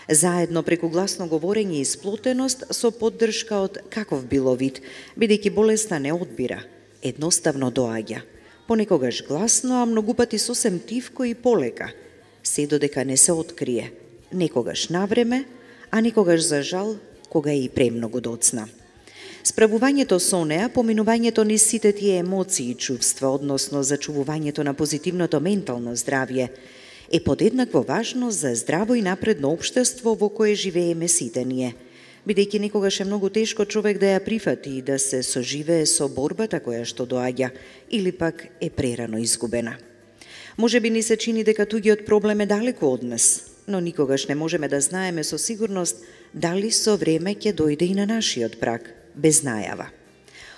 Заедно преку гласно говорење и сплотеност со поддршка од каков било вид, бидејќи болеста не одбира, едноставно доаѓа. Понекогаш гласно, а многу пати сосем тивко и полека, се додека не се открие, некогаш навреме, а никогаш за жал, кога е и премногу доцна. Справувањето со неа, поминувањето низ сите тие емоции и чувства, односно зачувувањето на позитивното ментално здравје, е подеднакво важно за здраво и напредно општество во кое живееме сите ние, бидејќи некогаш е многу тешко човек да ја прифати и да се соживее со борбата која што доаѓа, или пак е прерано изгубена. Може би ни се чини дека туѓиот проблем е далеку од нас, но никогаш не можеме да знаеме со сигурност дали со време ќе дојде и на нашиот праг, без најава.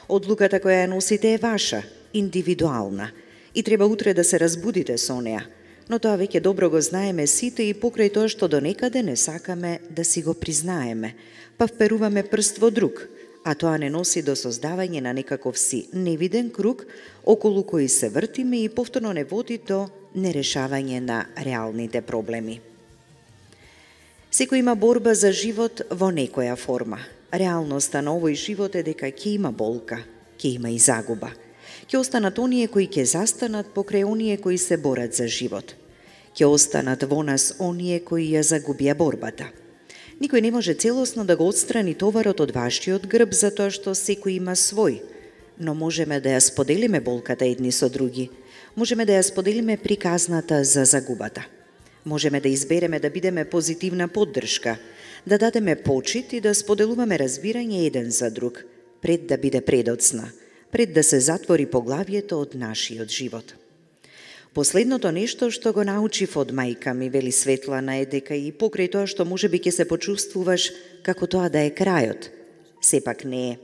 Одлуката која ја носите е ваша, индивидуална, и треба утре да се разбудите со неа, но тоа веќе добро го знаеме сите и покрај тоа што донекаде не сакаме да си го признаеме, па вперуваме прст во друг, а тоа не носи до создавање на некаков си невиден круг околу кој се вртиме и повторно не води до нерешавање на реалните проблеми. Секој има борба за живот во некоја форма. Реалноста на овој живот е дека ќе има болка, ќе има и загуба. Ќе останат оние кои ќе застанат покрај оние кои се борат за живот. Ќе останат во нас оние кои ја загубија борбата. Никој не може целосно да го отстрани товарот од вашиот грб затоа што секој има свој, но можеме да ја споделиме болката едни со други. Можеме да ја споделиме приказната за загубата. Можеме да избереме да бидеме позитивна поддршка, да дадеме почит и да споделуваме разбирање еден за друг, пред да биде предоцна, пред да се затвори поглавието од нашиот живот. Последното нешто што го научив од мајка ми, вели Светлана, е дека и покрај тоа што можеби ќе се почувствуваш како тоа да е крајот, сепак не е.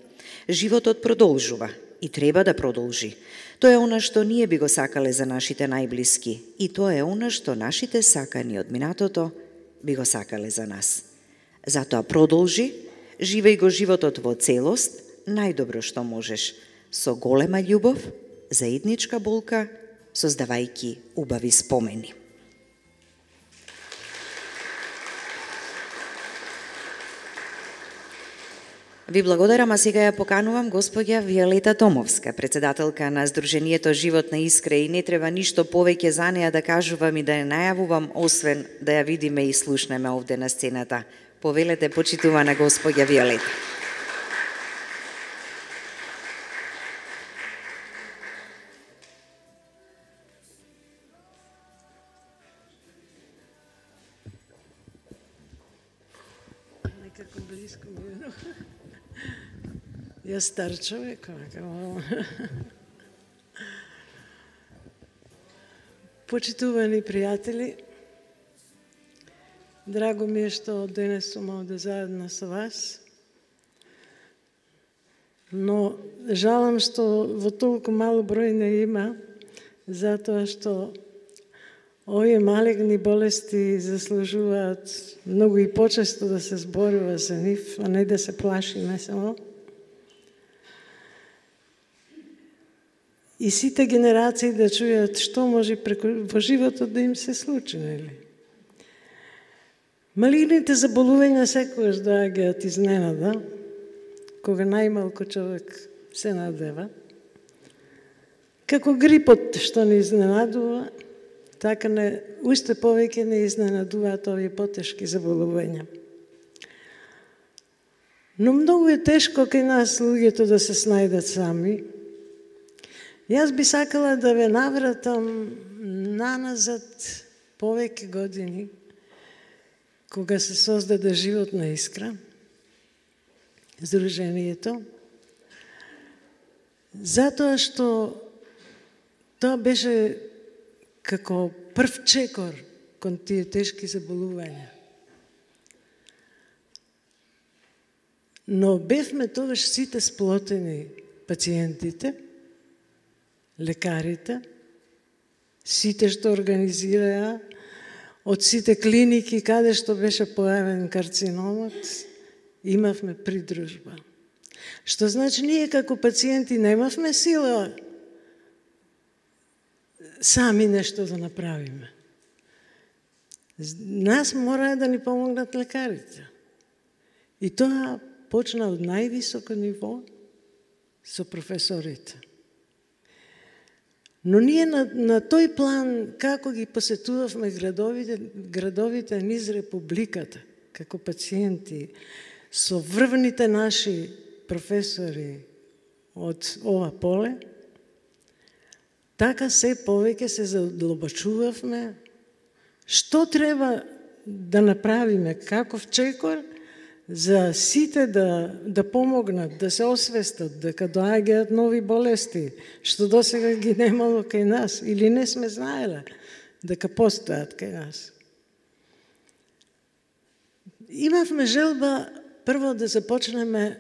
Животот продолжува и треба да продолжи. Тоа е она што ние би го сакале за нашите најблиски и тоа е она што нашите сакани од минатото би го сакале за нас. Затоа продолжи, живеј го животот во целост, најдобро што можеш, со голема љубов, заедничка болка, создавајќи убави спомени. Ви благодарам, а сега ја поканувам госпоѓа Виолета Томовска, председателка на Сдруженијето Живот на Искра, и не треба ништо повеќе за неа да кажувам и да ја најавувам, освен да ја видиме и слушнеме овде на сцената. Повелете, почитувана госпоѓа Виолета. Некако близко ми е. Јас стар човек, почитувани пријатели, драго ми е што денес сум овде заедно со вас, но жалам што во толку мало број не има, затоа што овие малигни болести заслужуваат многу и почесто да се зборува за нив, а не да се плашиме само. И сите генерации да чујат што може во животот да им се случи, нели? Малигните заболувања секогаш доаѓаат изненада, кога најмалку човек се надева. Како грипот што не изненадува, така уште повеќе не изненадуваат овие потешки заболувања. Но многу е тешко кај нас луѓето да се снајдат сами. Јас би сакала да ве навратам наназад повеќе години, кога се создаде Живот на Искра, Сдруженијето, затоа што тоа беше како прв чекор кон тие тешки заболувања. Но бевме тогаш сите сплотени, пациентите, лекарите, сите што организираа, од сите клиники каде што беше појавен карциномот, имавме придружба. Што значи ние како пациенти немавме сила сами нешто да направиме. Нас мора да ни помогнат лекарите. И тоа почна од највисоко ниво со професорите. Но ние на тој план, како ги посетувавме градовите низ Републиката, како пациенти, со врвните наши професори од ова поле, така се повеќе се задлабочувавме што треба да направиме, каков чекор, за сите да помогнат, да се освестат, дека доаѓаат нови болести, што досега ги немало кај нас, или не сме знаеле дека постојат кај нас. Имавме желба прво да започнеме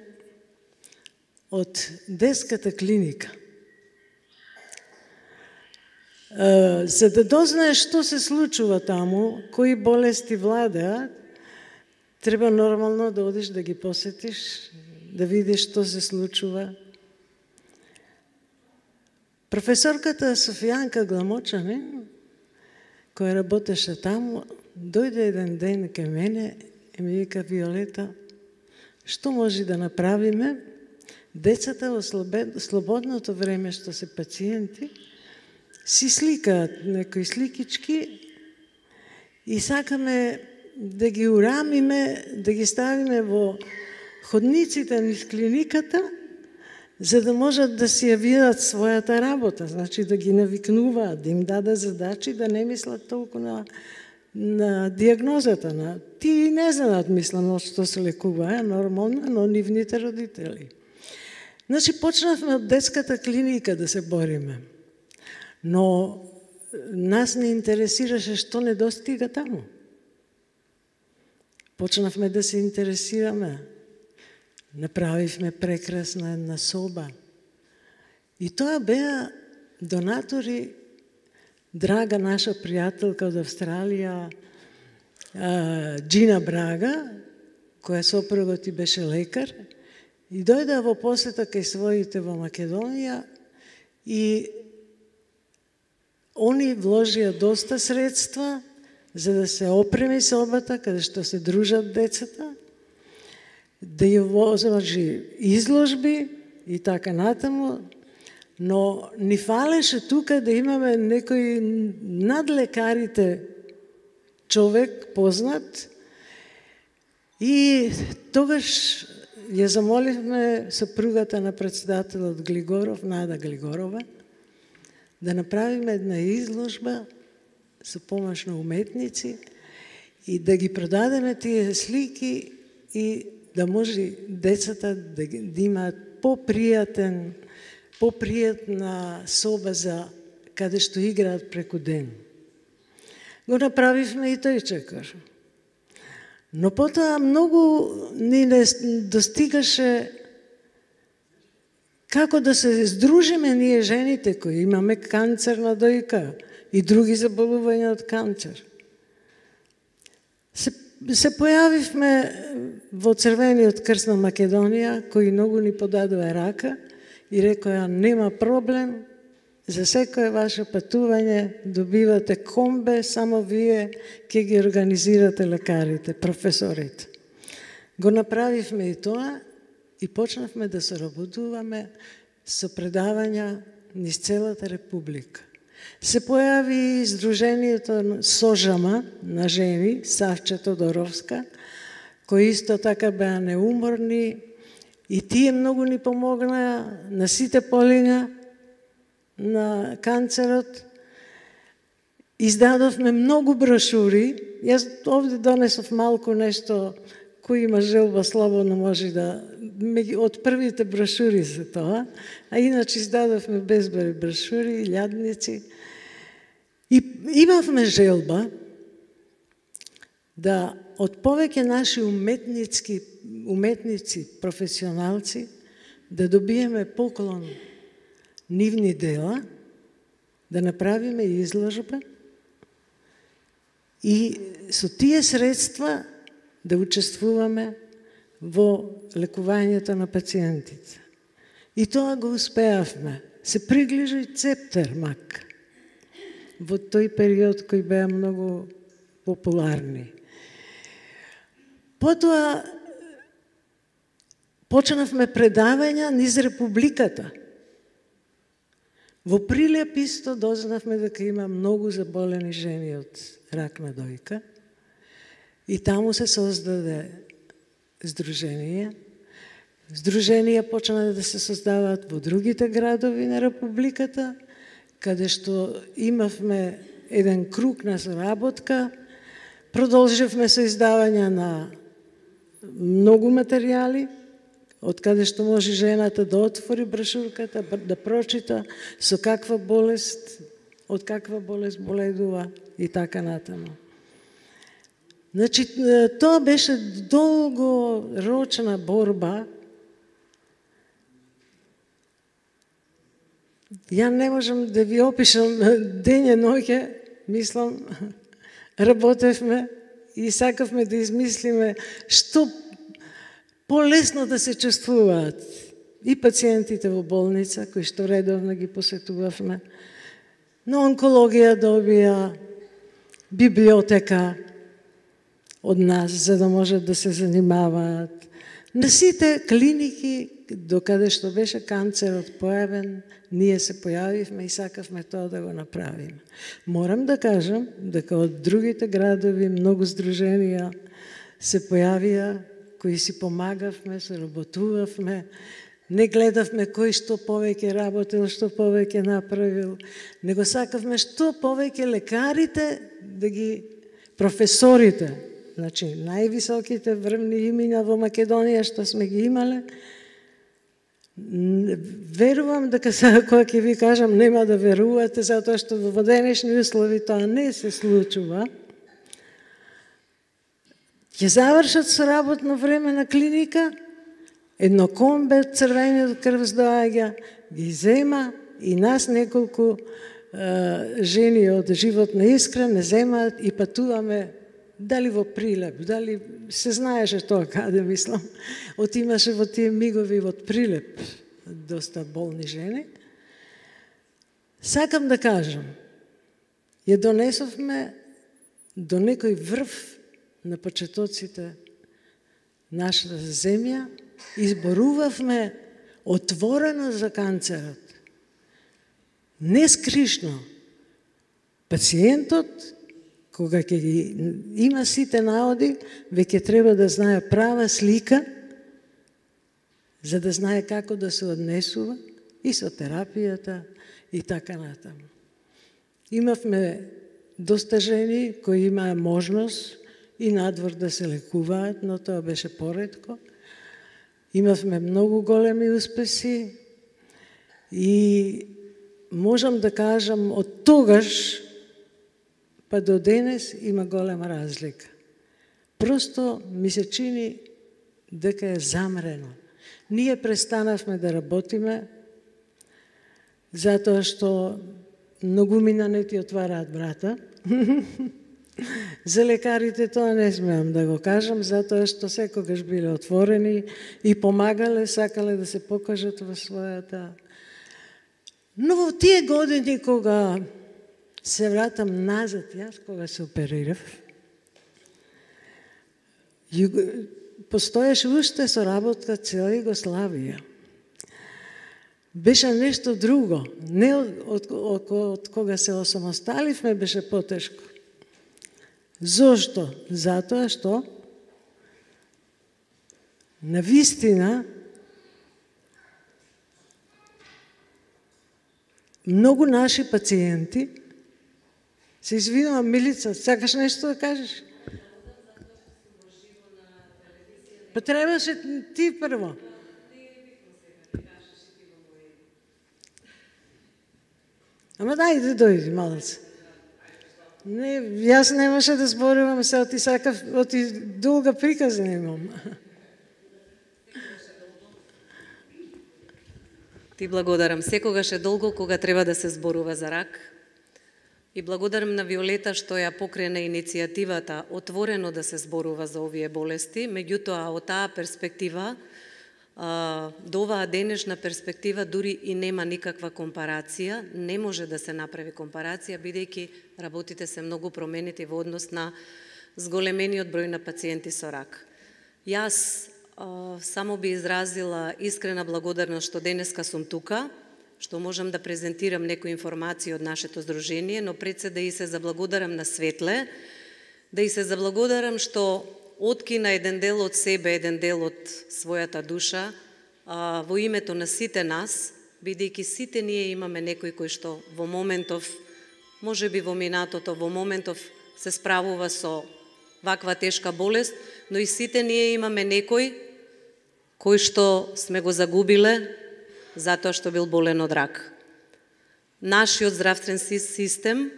од детската клиника. За да дознаеш што се случува таму, кои болести владеат, треба нормално да одиш да ги посетиш, да видиш што се случува. Професорката Софијанка Гламочанин, која работеше таму, дојде еден ден кај мене и ми вика: Виолета, што може да направиме? Децата во слободното време што се пациенти си сликаат некои сликички и сакаме да ги урамиме, да ги ставиме во ходниците низ клиниката, за да можат да си ја видат својата работа, значи да ги навикнуваат, да им даде задачи, да не мислат толку на диагнозата. Ти не знаат, мислам, од што се лекува, нормално, но нивните родители. Значи, почнавме од детската клиника да се бориме, но нас не интересираше што не достига таму. Почнавме да се интересираме. Направивме прекрасна една соба. И тоа беа донатори, драга наша пријателка од Австралија, Джина Брага, која сопругот и беше лекар, и дојде во посета кај своите во Македонија и они вложија доста средства за да се опреми собата каде што се дружат децата, да ја возложи изложби и така натаму, но ни фалеше тука да имаме некој над лекарите човек познат и тогаш ја замоливме сопругата на председателот Глигоров, Нада Глигорова, да направиме една изложба со помош на уметници и да ги продадеме тие слики и да може децата да имаат попријатна соба за каде што играат преку ден. Го направивме и тој чекор. Но потоа многу ни не достигаше како да се здружиме ние жените кои имаме канцер на дојка и други заболувања од канцер. Се појавивме во Црвениот крст на Македонија, кои многу ни подадува рака и рекоа: нема проблем, за секое ваше патување добивате комбе, само вие ќе ги организирате лекарите, професорите. Го направивме и тоа и почнавме да соработуваме со предавања низ целата република. Се појави Сдруженијето Сожама на жени, Савче Тодоровска, кои исто така беа неуморни и тие многу ни помогнаа на сите полиња на канцерот. Издадовме многу брошури. Јас овде донесов малку нешто, кој има желба слободно може да... Од првите брошури за тоа, а иначе издадовме безброј брошури, илјадници. И имавме желба да од повеќе наши уметници, професионалци, да добиеме поклон нивни дела, да направиме изложба и со тие средства да учествуваме во лекувањето на пациентите. И тоа го успеавме. Се приближи Цептермак во тој период кој беа многу популарни. Потоа почнавме предавања низ Републиката. Во Прилеп исто дознавме дека има многу заболени жени од рак на дојка И таму се создаде здружение. Здруженија почна да се создаваат во другите градови на Републиката, каде што имавме еден круг на соработка, продолживме со издавање на многу материјали, од каде што може жената да отвори брошурката, да прочита со каква болест, од каква болест боледува и така натаму. Значи, тоа беше долгорочна борба. Ја не можам да ви опишам дење ноќе, мислам, работевме и сакавме да измислиме што полесно да се чувствуваат и пациентите во болница, кои што редовно ги посетувавме. На онкологија добија библиотека од нас, за да можат да се занимаваат. На сите клиники, докаде што беше канцерот појавен, ние се појавивме и сакавме тоа да го направиме. Морам да кажам дека од другите градови многу здруженија се појавија, кои си помагавме, се работувавме, не гледавме кој што повеќе работил, што повеќе направил, него сакавме што повеќе лекарите да ги професорите, значи највисоките врвни имиња во Македонија што сме ги имале. Верувам дека сега кога ќе ви кажам нема да верувате, затоа што во денешни услови тоа не се случува. Ќе завршат со работно време на клиника, едно комбе црвениот крв доаѓа, ги зема и нас неколку жени од животна искра не земаат и патуваме дали во Прилеп, дали се знаеше тоа каде, мислам, отимаше во тие мигови од Прилеп доста болни жени. Сакам да кажам, ја донесовме до некој врв на почетоците нашата земја, изборувавме отворено за канцерот. Не скришно. Пациентот, кога ќе ги има сите наоди, веќе треба да знае права слика, за да знае како да се однесува и со терапијата и така натаму. Имавме доста жени кои имаа можност и надвор да се лекуваат, но тоа беше поретко. Имавме многу големи успеси и можам да кажам од тогаш па до денес има голема разлика. Просто ми се чини дека е замрено. Ние престанавме да работиме затоа што многумина не ти отвараат врата. За лекарите тоа не смеам да го кажам, затоа што секогаш биле отворени и помагале, сакале да се покажат во својата. Но во тие години кога се вратам назад, јас кога се оперирав, постоеше уште соработка цела Југославија. Беше нешто друго. Не од кога се осамосталивме беше потешко. Зошто? Затоа што навистина многу наши пациенти, се извинувам, Милица, сакаш нешто да кажеш? Па требаше ти прво. Ама дајде дојди малце. Не, јас немаше да зборувам се, оти сакав, оти долга приказна имам. Ти благодарам. Секогаш е долго кога треба да се зборува за рак. И благодарам на Виолета што ја покрена иницијативата отворено да се зборува за овие болести. Меѓутоа, од таа перспектива, до оваа денешна перспектива дури и нема никаква компарација, не може да се направи компарација, бидејќи работите се многу променети во однос на зголемениот број на пациенти со рак. Јас само би изразила искрена благодарност што денеска сум тука, што можам да презентирам некои информации од нашето здружение, но пред се да и се заблагодарам на Светле, Да и се заблагодарам што откина еден дел од себе, еден дел од својата душа, во името на сите нас, бидејќи сите ние имаме некој кој што во моментов, може би во минатото, во моментов се справува со ваква тешка болест, но и сите ние имаме некој кој што сме го загубиле затоа што бил болен од рак. Нашиот здравствен систем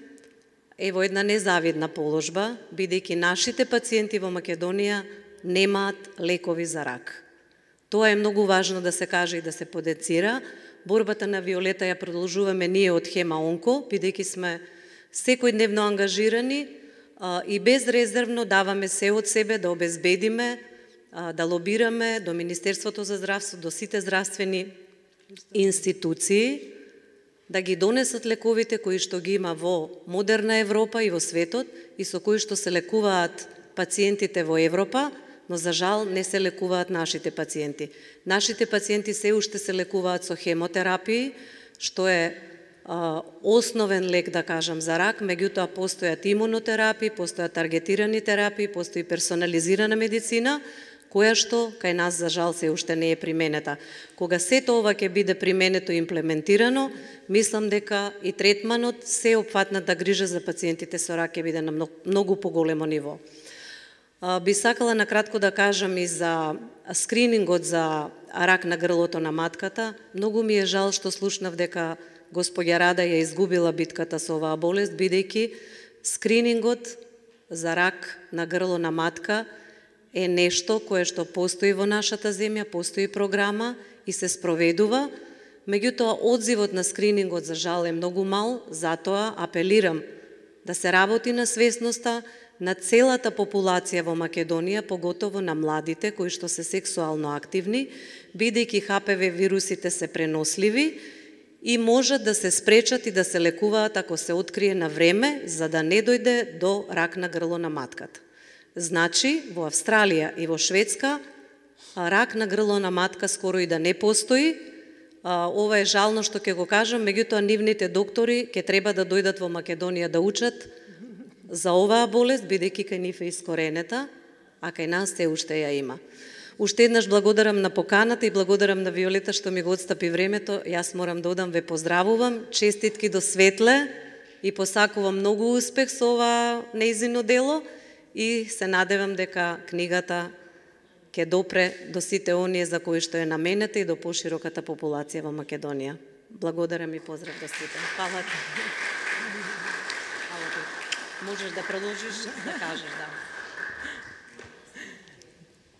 е во една незавидна положба, бидејќи нашите пациенти во Македонија немаат лекови за рак. Тоа е многу важно да се каже и да се подецира. Борбата на Виолета ја продолжуваме ние од Хема Онко, бидејќи сме секојдневно ангажирани и безрезервно даваме се од себе да обезбедиме, да лобираме до Министерството за здравство, до сите здравствени институции, да ги донесат лековите кои што ги има во модерна Европа и во светот и со кои што се лекуваат пациентите во Европа, но за жал не се лекуваат нашите пациенти. Нашите пациенти се уште се лекуваат со хемотерапии, што е основен лек, да кажам, за рак, меѓутоа постојат имунотерапии, постојат таргетирани терапии, постои персонализирана медицина, која што кај нас за жал се уште не е применета. Кога сето ова ќе биде применето и имплементирано, мислам дека и третманот, се опфатната грижа за пациентите со рак ќе биде на многу поголемо ниво. Би сакала накратко да кажам и за скринингот за рак на грлото на матката. Многу ми е жал што слушнав дека господја Рада ја изгубила битката со оваа болест, бидејќи скринингот за рак на грло на матка е нешто кое што постои во нашата земја, постои програма и се спроведува. Меѓутоа, одзивот на скринингот за жал е многу мал, затоа апелирам да се работи на свесноста на целата популација во Македонија, поготово на младите кои што се сексуално активни, бидејќи HPV вирусите се преносливи и можат да се спречат и да се лекуваат ако се открие на време, за да не дојде до рак на грло на матката. Значи, во Австралија и во Шведска, рак на грло на матка скоро и да не постои. Ова е жално што ќе го кажам, меѓутоа нивните доктори ќе треба да дојдат во Македонија да учат за оваа болест, бидејќи кај нив е искоренета, а кај нас се уште ја има. Уште еднаш благодарам на поканата и благодарам на Виолета што ми го отстапи времето. Јас морам да одам, ве поздравувам, честитки до Светле и посакувам многу успех со ова нејзино дело и се надевам дека книгата ќе допре до сите оние за кои што е наменета и до пошироката популација во Македонија. Благодарам и поздрав до сите. Фала ти. Можеш да продолжиш да кажеш, да.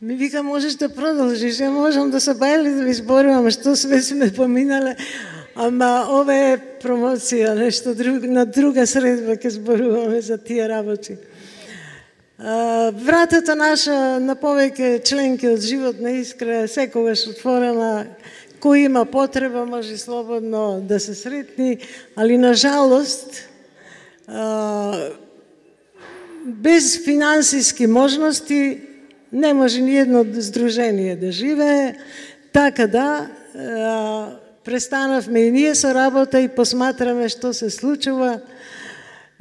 Ми вика, можеш да продолжиш, ја можам да се бајали да ви зборувам што све сме поминале, ама ова е промоција, нешто друго, на друга средба ќе зборуваме за тие работи. Вратата наша на повеќе членки од Животна искра е секогаш отворена. Кој има потреба може слободно да се сретни, али на жалост без финансиски можности не може ни едно здружение да живее, така да престанавме и ние со работа и посматраме што се случува.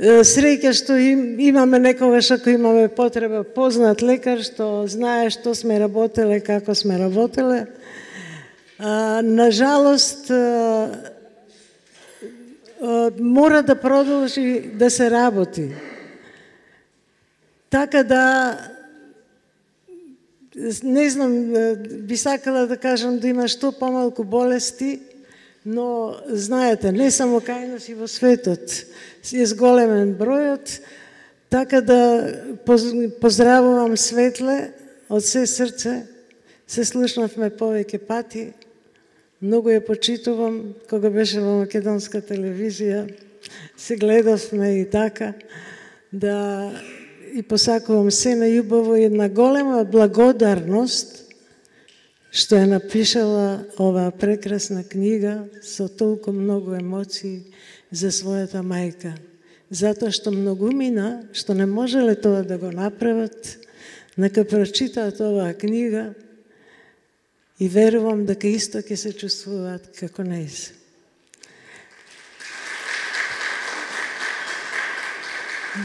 Среќа што имаме некогаш ако имаме потреба познат лекар што знае што сме работеле, како сме работеле. На жалост мора да продолжи да се работи. Така да не знам, би сакала да кажам да има што помалку болести, но знаете, не само кај нас и во светот е зголемен бројот, така да поздравувам Светле од се срце, се слушнавме повеќе пати, многу ја почитувам, кога беше во македонска телевизија, се гледавме и така, да и посакувам се најубаво и една голема благодарност што ја напишала оваа прекрасна книга со толку многу емоции за својата мајка. Затоа што многумина, што не можеле тоа да го направат, нека прочитаат оваа книга и верувам дека исто ќе се чувствуваат како нејзе.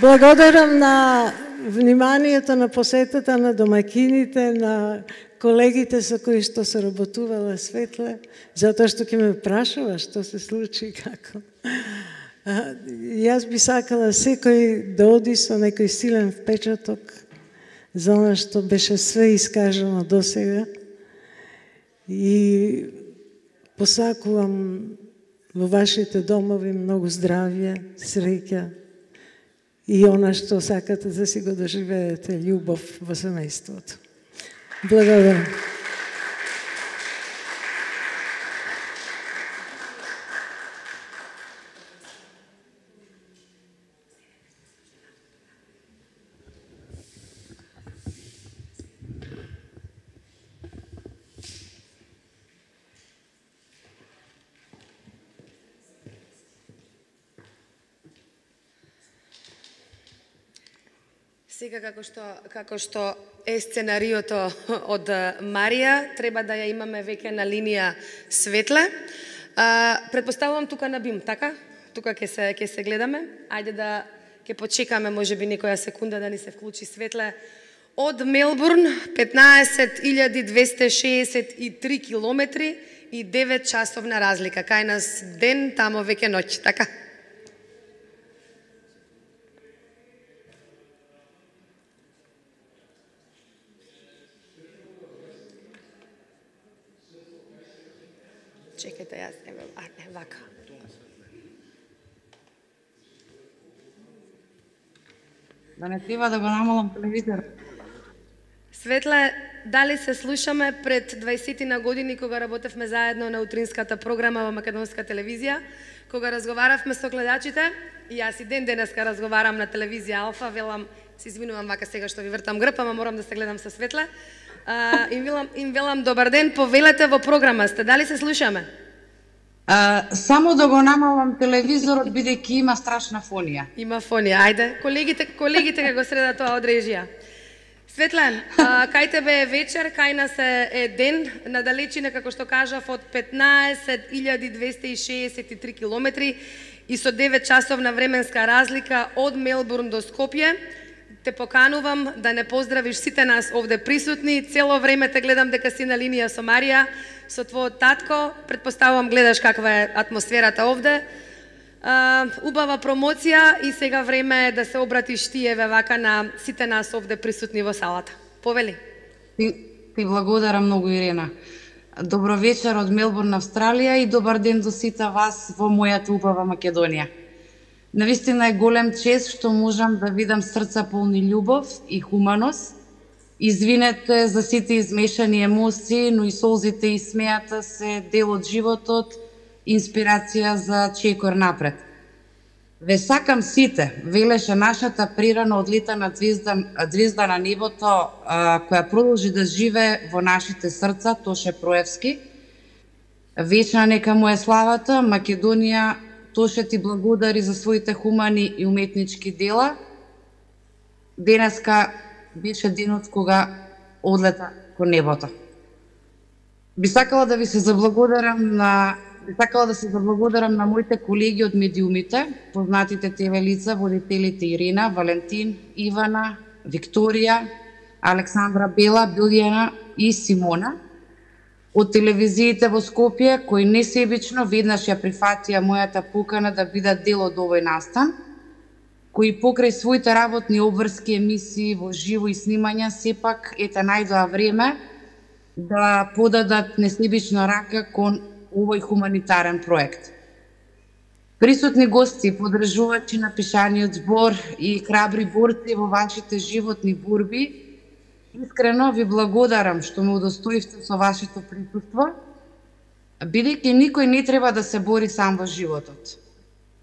Благодарам на вниманието на посетата на домакините, на колегите со кои што се работувала Светле, затоа што ќе ме прашува што се случи и како. Јас би сакала секој да оди со некој силен впечаток за она што беше све искажано до сега и посакувам во вашите домови многу здравје, среќа и она што сакате да си го доживеете, љубов во семејството. Благодарам. Сега како што е сценариото од Марија, треба да ја имаме веќе на линија Светле. Предпоставувам тука на бим, така? Тука ќе се гледаме. Ајде да ќе почекаме можеби некоја секунда да ни се вклучи Светле. Од Мелбурн 15.263 километри и 9 часовна разлика. Кај нас ден, тамо веќе ноќ, така? Чекайте, јас вака. Да не треба да го намалам телевизор. Светле, дали се слушаме пред 20 години кога работевме заедно на утринската програма во Македонска телевизија, кога разговаравме со гледачите, и јас и ден денеска разговарам на телевизија Алфа, велам, се извинувам вака сега што ви вртам грб, ама морам да се гледам со Светле. Им велам добар ден, повелете во програма сте, дали се слушаме? Само да го намалам телевизорот, бидејќи има страшна фонија. Има фонија, ајде, колегите ќе го средат тоа од режија. Светле, кај тебе е вечер, кај нас е ден, надалечина, како што кажав, од 15.263 километри и со 9 часовна временска разлика од Мелбурн до Скопје. Те поканувам да не поздравиш сите нас овде присутни. Цело време те гледам дека си на линија со Марија, со твојот татко. Предпоставувам гледаш каква е атмосферата овде. Убава промоција и сега време е да се обратиш ти еве вака на сите нас овде присутни во салата. Повели. Ти благодарам многу, Ирена. Добро вечер од Мелбурн, Австралија и добар ден до сите вас во мојата убава Македонија. Навистина е голем чест што можам да видам срца полни љубов и хуманост. Извинете за сите измешани емоции, но и солзите и смејата се дел од животот, инспирација за чекор напред. Ве сакам сите, велеше нашата прирано одлетана звезда на небото, која продолжи да живее во нашите срца, Тоше Проевски. Вечна нека му е славата, Македонија. Тоше ти благодари за своите хумани и уметнички дела. Денеска беше денот кога одлета кон небото. Би сакала да се заблагодарам на моите колеги од медиумите, познатите ТВ лица, водителите Ирина, Валентин, Ивана, Викторија, Александра Бела, Билјана и Симона. Од телевизиите во Скопје, кои несебично веднаш ја прифатија мојата покана да бидат дел од овој настан, кои покрај своите работни обврски емисии во живо и снимања сепак ете најдоа време да подадат несебична рака кон овој хуманитарен проект. Присутни гости, подржувачи на пишаниот збор и храбри борци во вашите животни борби, искрено ви благодарам што ме удостоивте со вашето присуство, бидејќи никој не треба да се бори сам во животот.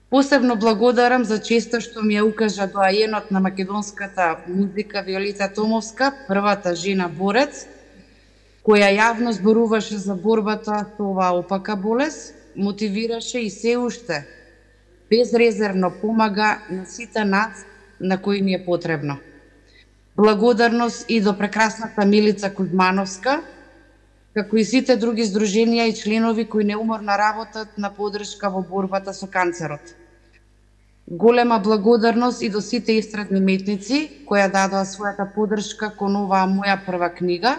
Посебно благодарам за честа што ми ја укажа доајенот на македонската музика Виолета Томовска, првата жена борец, која јавно зборуваше за борбата со оваа опака болест, мотивираше и се уште безрезервно помага на сите нас на кои ни е потребно. Благодарност и до прекрасната Милица Кузмановска, како и сите други здруженија и членови кои неуморно работат на поддршка во борбата со канцерот. Голема благодарност и до сите естрадни метници кои дадоа својата поддршка кон оваа моја прва книга,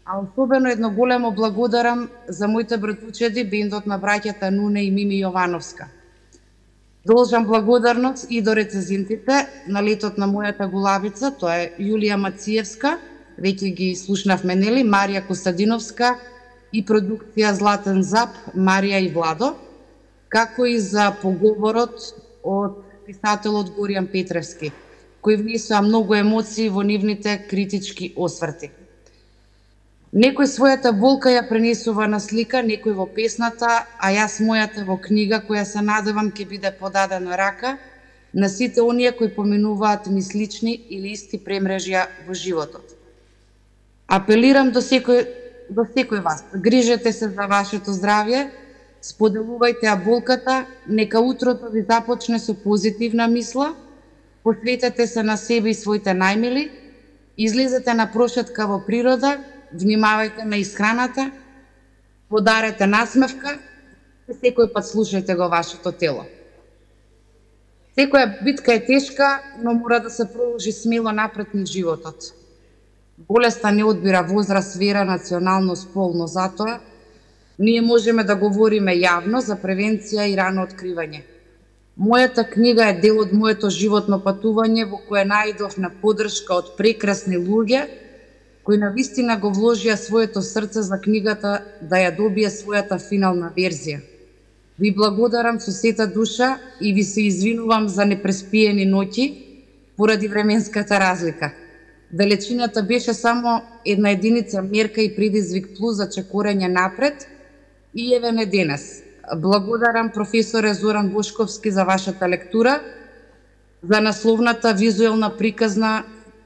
а особено едно големо благодарам за моите братучеди, бендот на браќата Нуне и Мими Јовановска. Должам благодарност и до рецензентите на летот на мојата гулабица, тоа е Јулија Мациевска, веќе ги слушнавме, нели, Марија Костадиновска и продукција Златен зап, Марија и Владо, како и за поговорот од писателот Горијан Петревски, кој внесоа многу емоции во нивните критички осврти. Некој својата болка ја пренесува на слика, некој во песната, а јас мојата во книга која се надевам ќе биде подадена рака на сите оние кои поминуваат ми слични или исти премрежја во животот. Апелирам до секој вас, грижете се за вашето здравје, споделувајте ја болката, нека утрото ви започне со позитивна мисла, посветете се на себе и своите најмили, излезете на прошетка во природа, внимавајте на исхраната, подарете насмевка и секој пат слушајте го вашето тело. Секоја битка е тешка, но мора да се продолжи смело напред низ животот. Болеста не одбира возраст, вера, националност, пол, но затоа ние можеме да говориме јавно за превенција и рано откривање. Мојата книга е дел од моето животно патување во кое најдов на поддршка од прекрасни луѓе кои навистина го вложија своето срце за книгата да ја добие својата финална верзија. Ви благодарам со сета душа и ви се извинувам за непреспиени ноќи поради временската разлика. Далечината беше само една единица мерка и предизвик плюс за чекорање напред и еве не денес. Благодарам професоре Зоран Бошковски за вашата лектура, за насловната визуелна приказна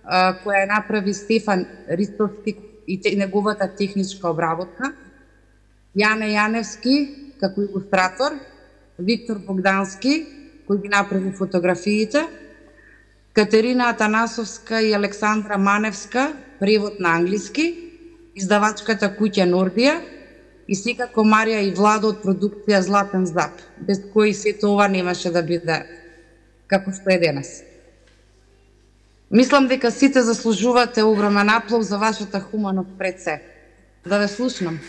која направи Стефан Ристовски и неговата техничка обработка, Јане Јаневски како илустратор, Виктор Богдански кој ги направи фотографиите, Катерина Атанасовска и Александра Маневска, превод на англиски, издавачката куќа Нордија и секако Марија и Владо од продукција Златен зап, без кои сето ова немаше да биде како што е денес. Мислам дека сите заслужувате огромен аплауз за вашата хуманост пред се. Да ве слушнам.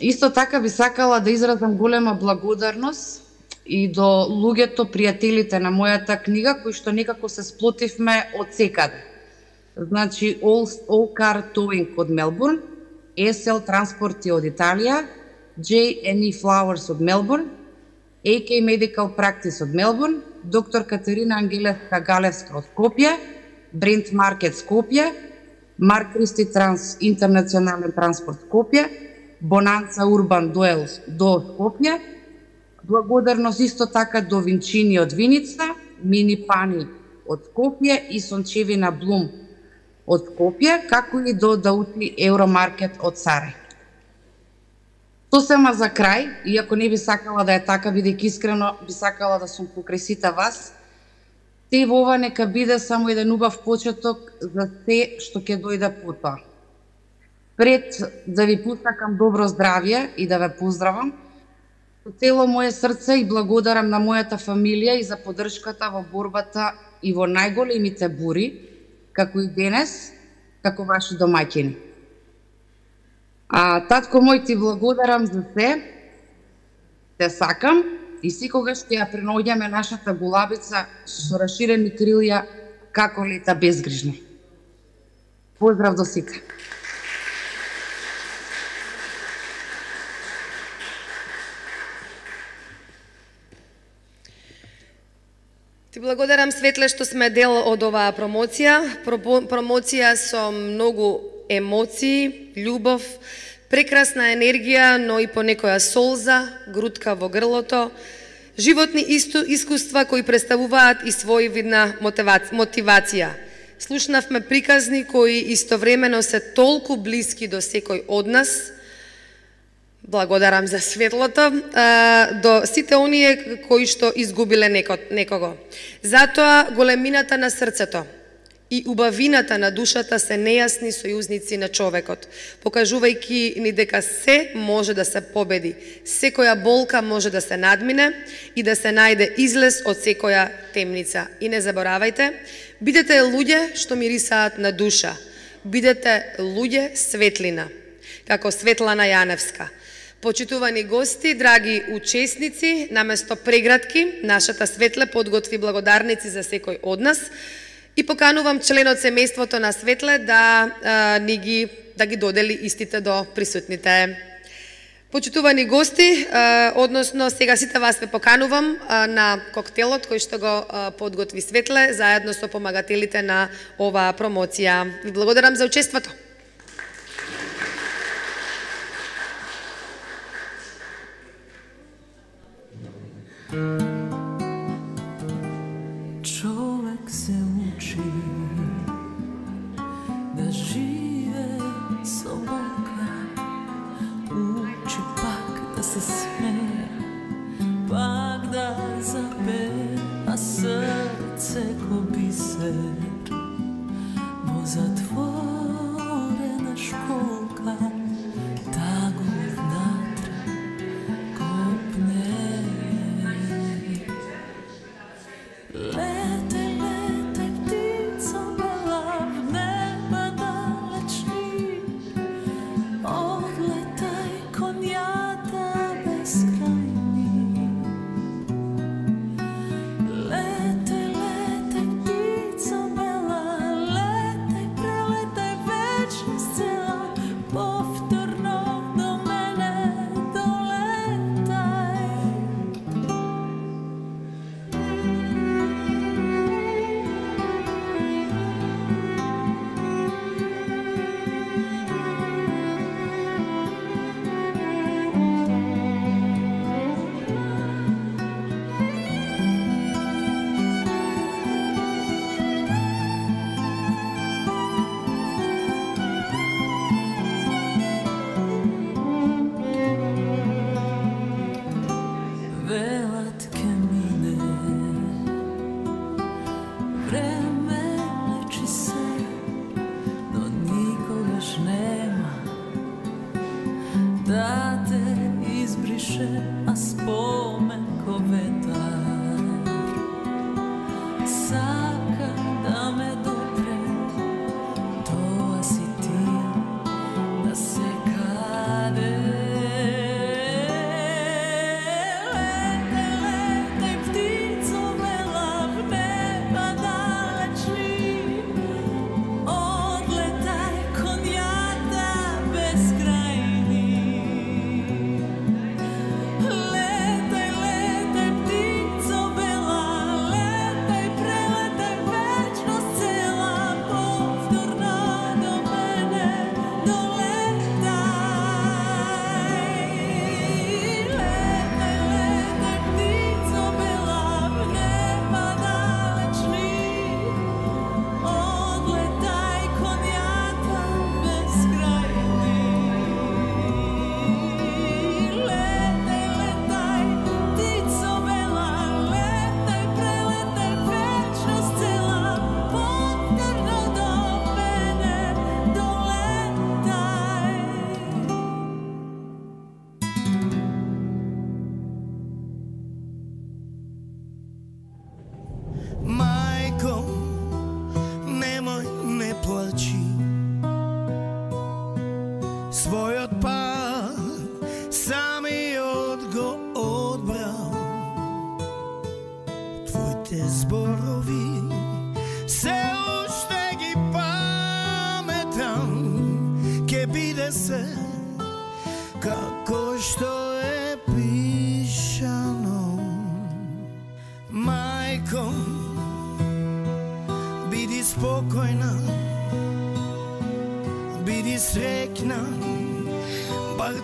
Исто така би сакала да изразам голема благодарност и до луѓето, пријателите на мојата книга, кои што некако се сплотивме од секаде. Значи, All Car Towing од Мелбурн, SL Транспорти од Италија, J&E Flowers од Мелбурн, AK Medical Practice од Мелбурн, доктор Катерина Ангелевска Галевска од Скопје, Brent Market Скопје, Марк Кристи Транс Интернационален транспорт Скопје, Бонанца Урбан Дуел до Скопје, благодарност исто така до Винчини од Виница, Мини Пани од Скопје и Сончевина Блум од Скопје, како и до Даути Евромаркет од Сарај. Сосема за крај, иако не би сакала да е така, бидејќи искрено би сакала да сум покрај сите вас, се во ова нека биде само еден убав почеток за се што ќе дојде потоа. Пред да ви посакам добро здравје и да ве поздравам, со цело моје срце и благодарам на мојата фамилија и за поддршката во борбата и во најголемите бури, како и денес, како ваши домаќини. Татко мој, ти благодарам за се, те сакам и секогаш ќе ја преноѓаме нашата гулабица со расширени крилја како лета безгрижни. Поздрав до сите. Ти благодарам, Светле, што сме дел од оваа промоција. Промоција со многу емоции, љубов, прекрасна енергија, но и понекоја солза, грудка во грлото, животни искуства кои представуваат и своевидна мотивација. Слушнавме приказни кои истовремено се толку блиски до секој од нас. Благодарам за светлото, до сите оние кои што изгубиле некого. Затоа големината на срцето и убавината на душата се нејасни сојузници на човекот, покажувајќи ни дека се може да се победи, секоја болка може да се надмине и да се најде излез од секоја темница. И не заборавајте, бидете луѓе што мирисаат на душа, бидете луѓе светлина, како Светлана Јаневска. Почитувани гости, драги учесници, наместо прегратки, нашата Светле подготви благодарници за секој од нас и поканувам членот семејството на Светле да ги додели истите до присутните. Почитувани гости, односно сега сите вас ве поканувам на коктелот кој што го подготви Светле заедно со помагателите на оваа промоција. Ви благодарам за учеството. Човек се учи да живе со Бога, учи пак да се смее, пак да запее, а срце ко бисер во затворена школка, таго внатре копне. Лете, лете, птица бела в неба далечни, одлетај конјата безкрајни. Лете, лете, птица бела, летај, прелетај вечност цела, повторно до мене долетај. Велат ке мине, време лечи се, но никогаш нема да те избрише, а спомен ко ветар сака да ме допре, тоа си ти да се каде. Својот пат самиот го одбрал, твоите зборови се уште ги паметам, ке биде се како што е пишано. Мајко, биди спокојна, биди среќна, бар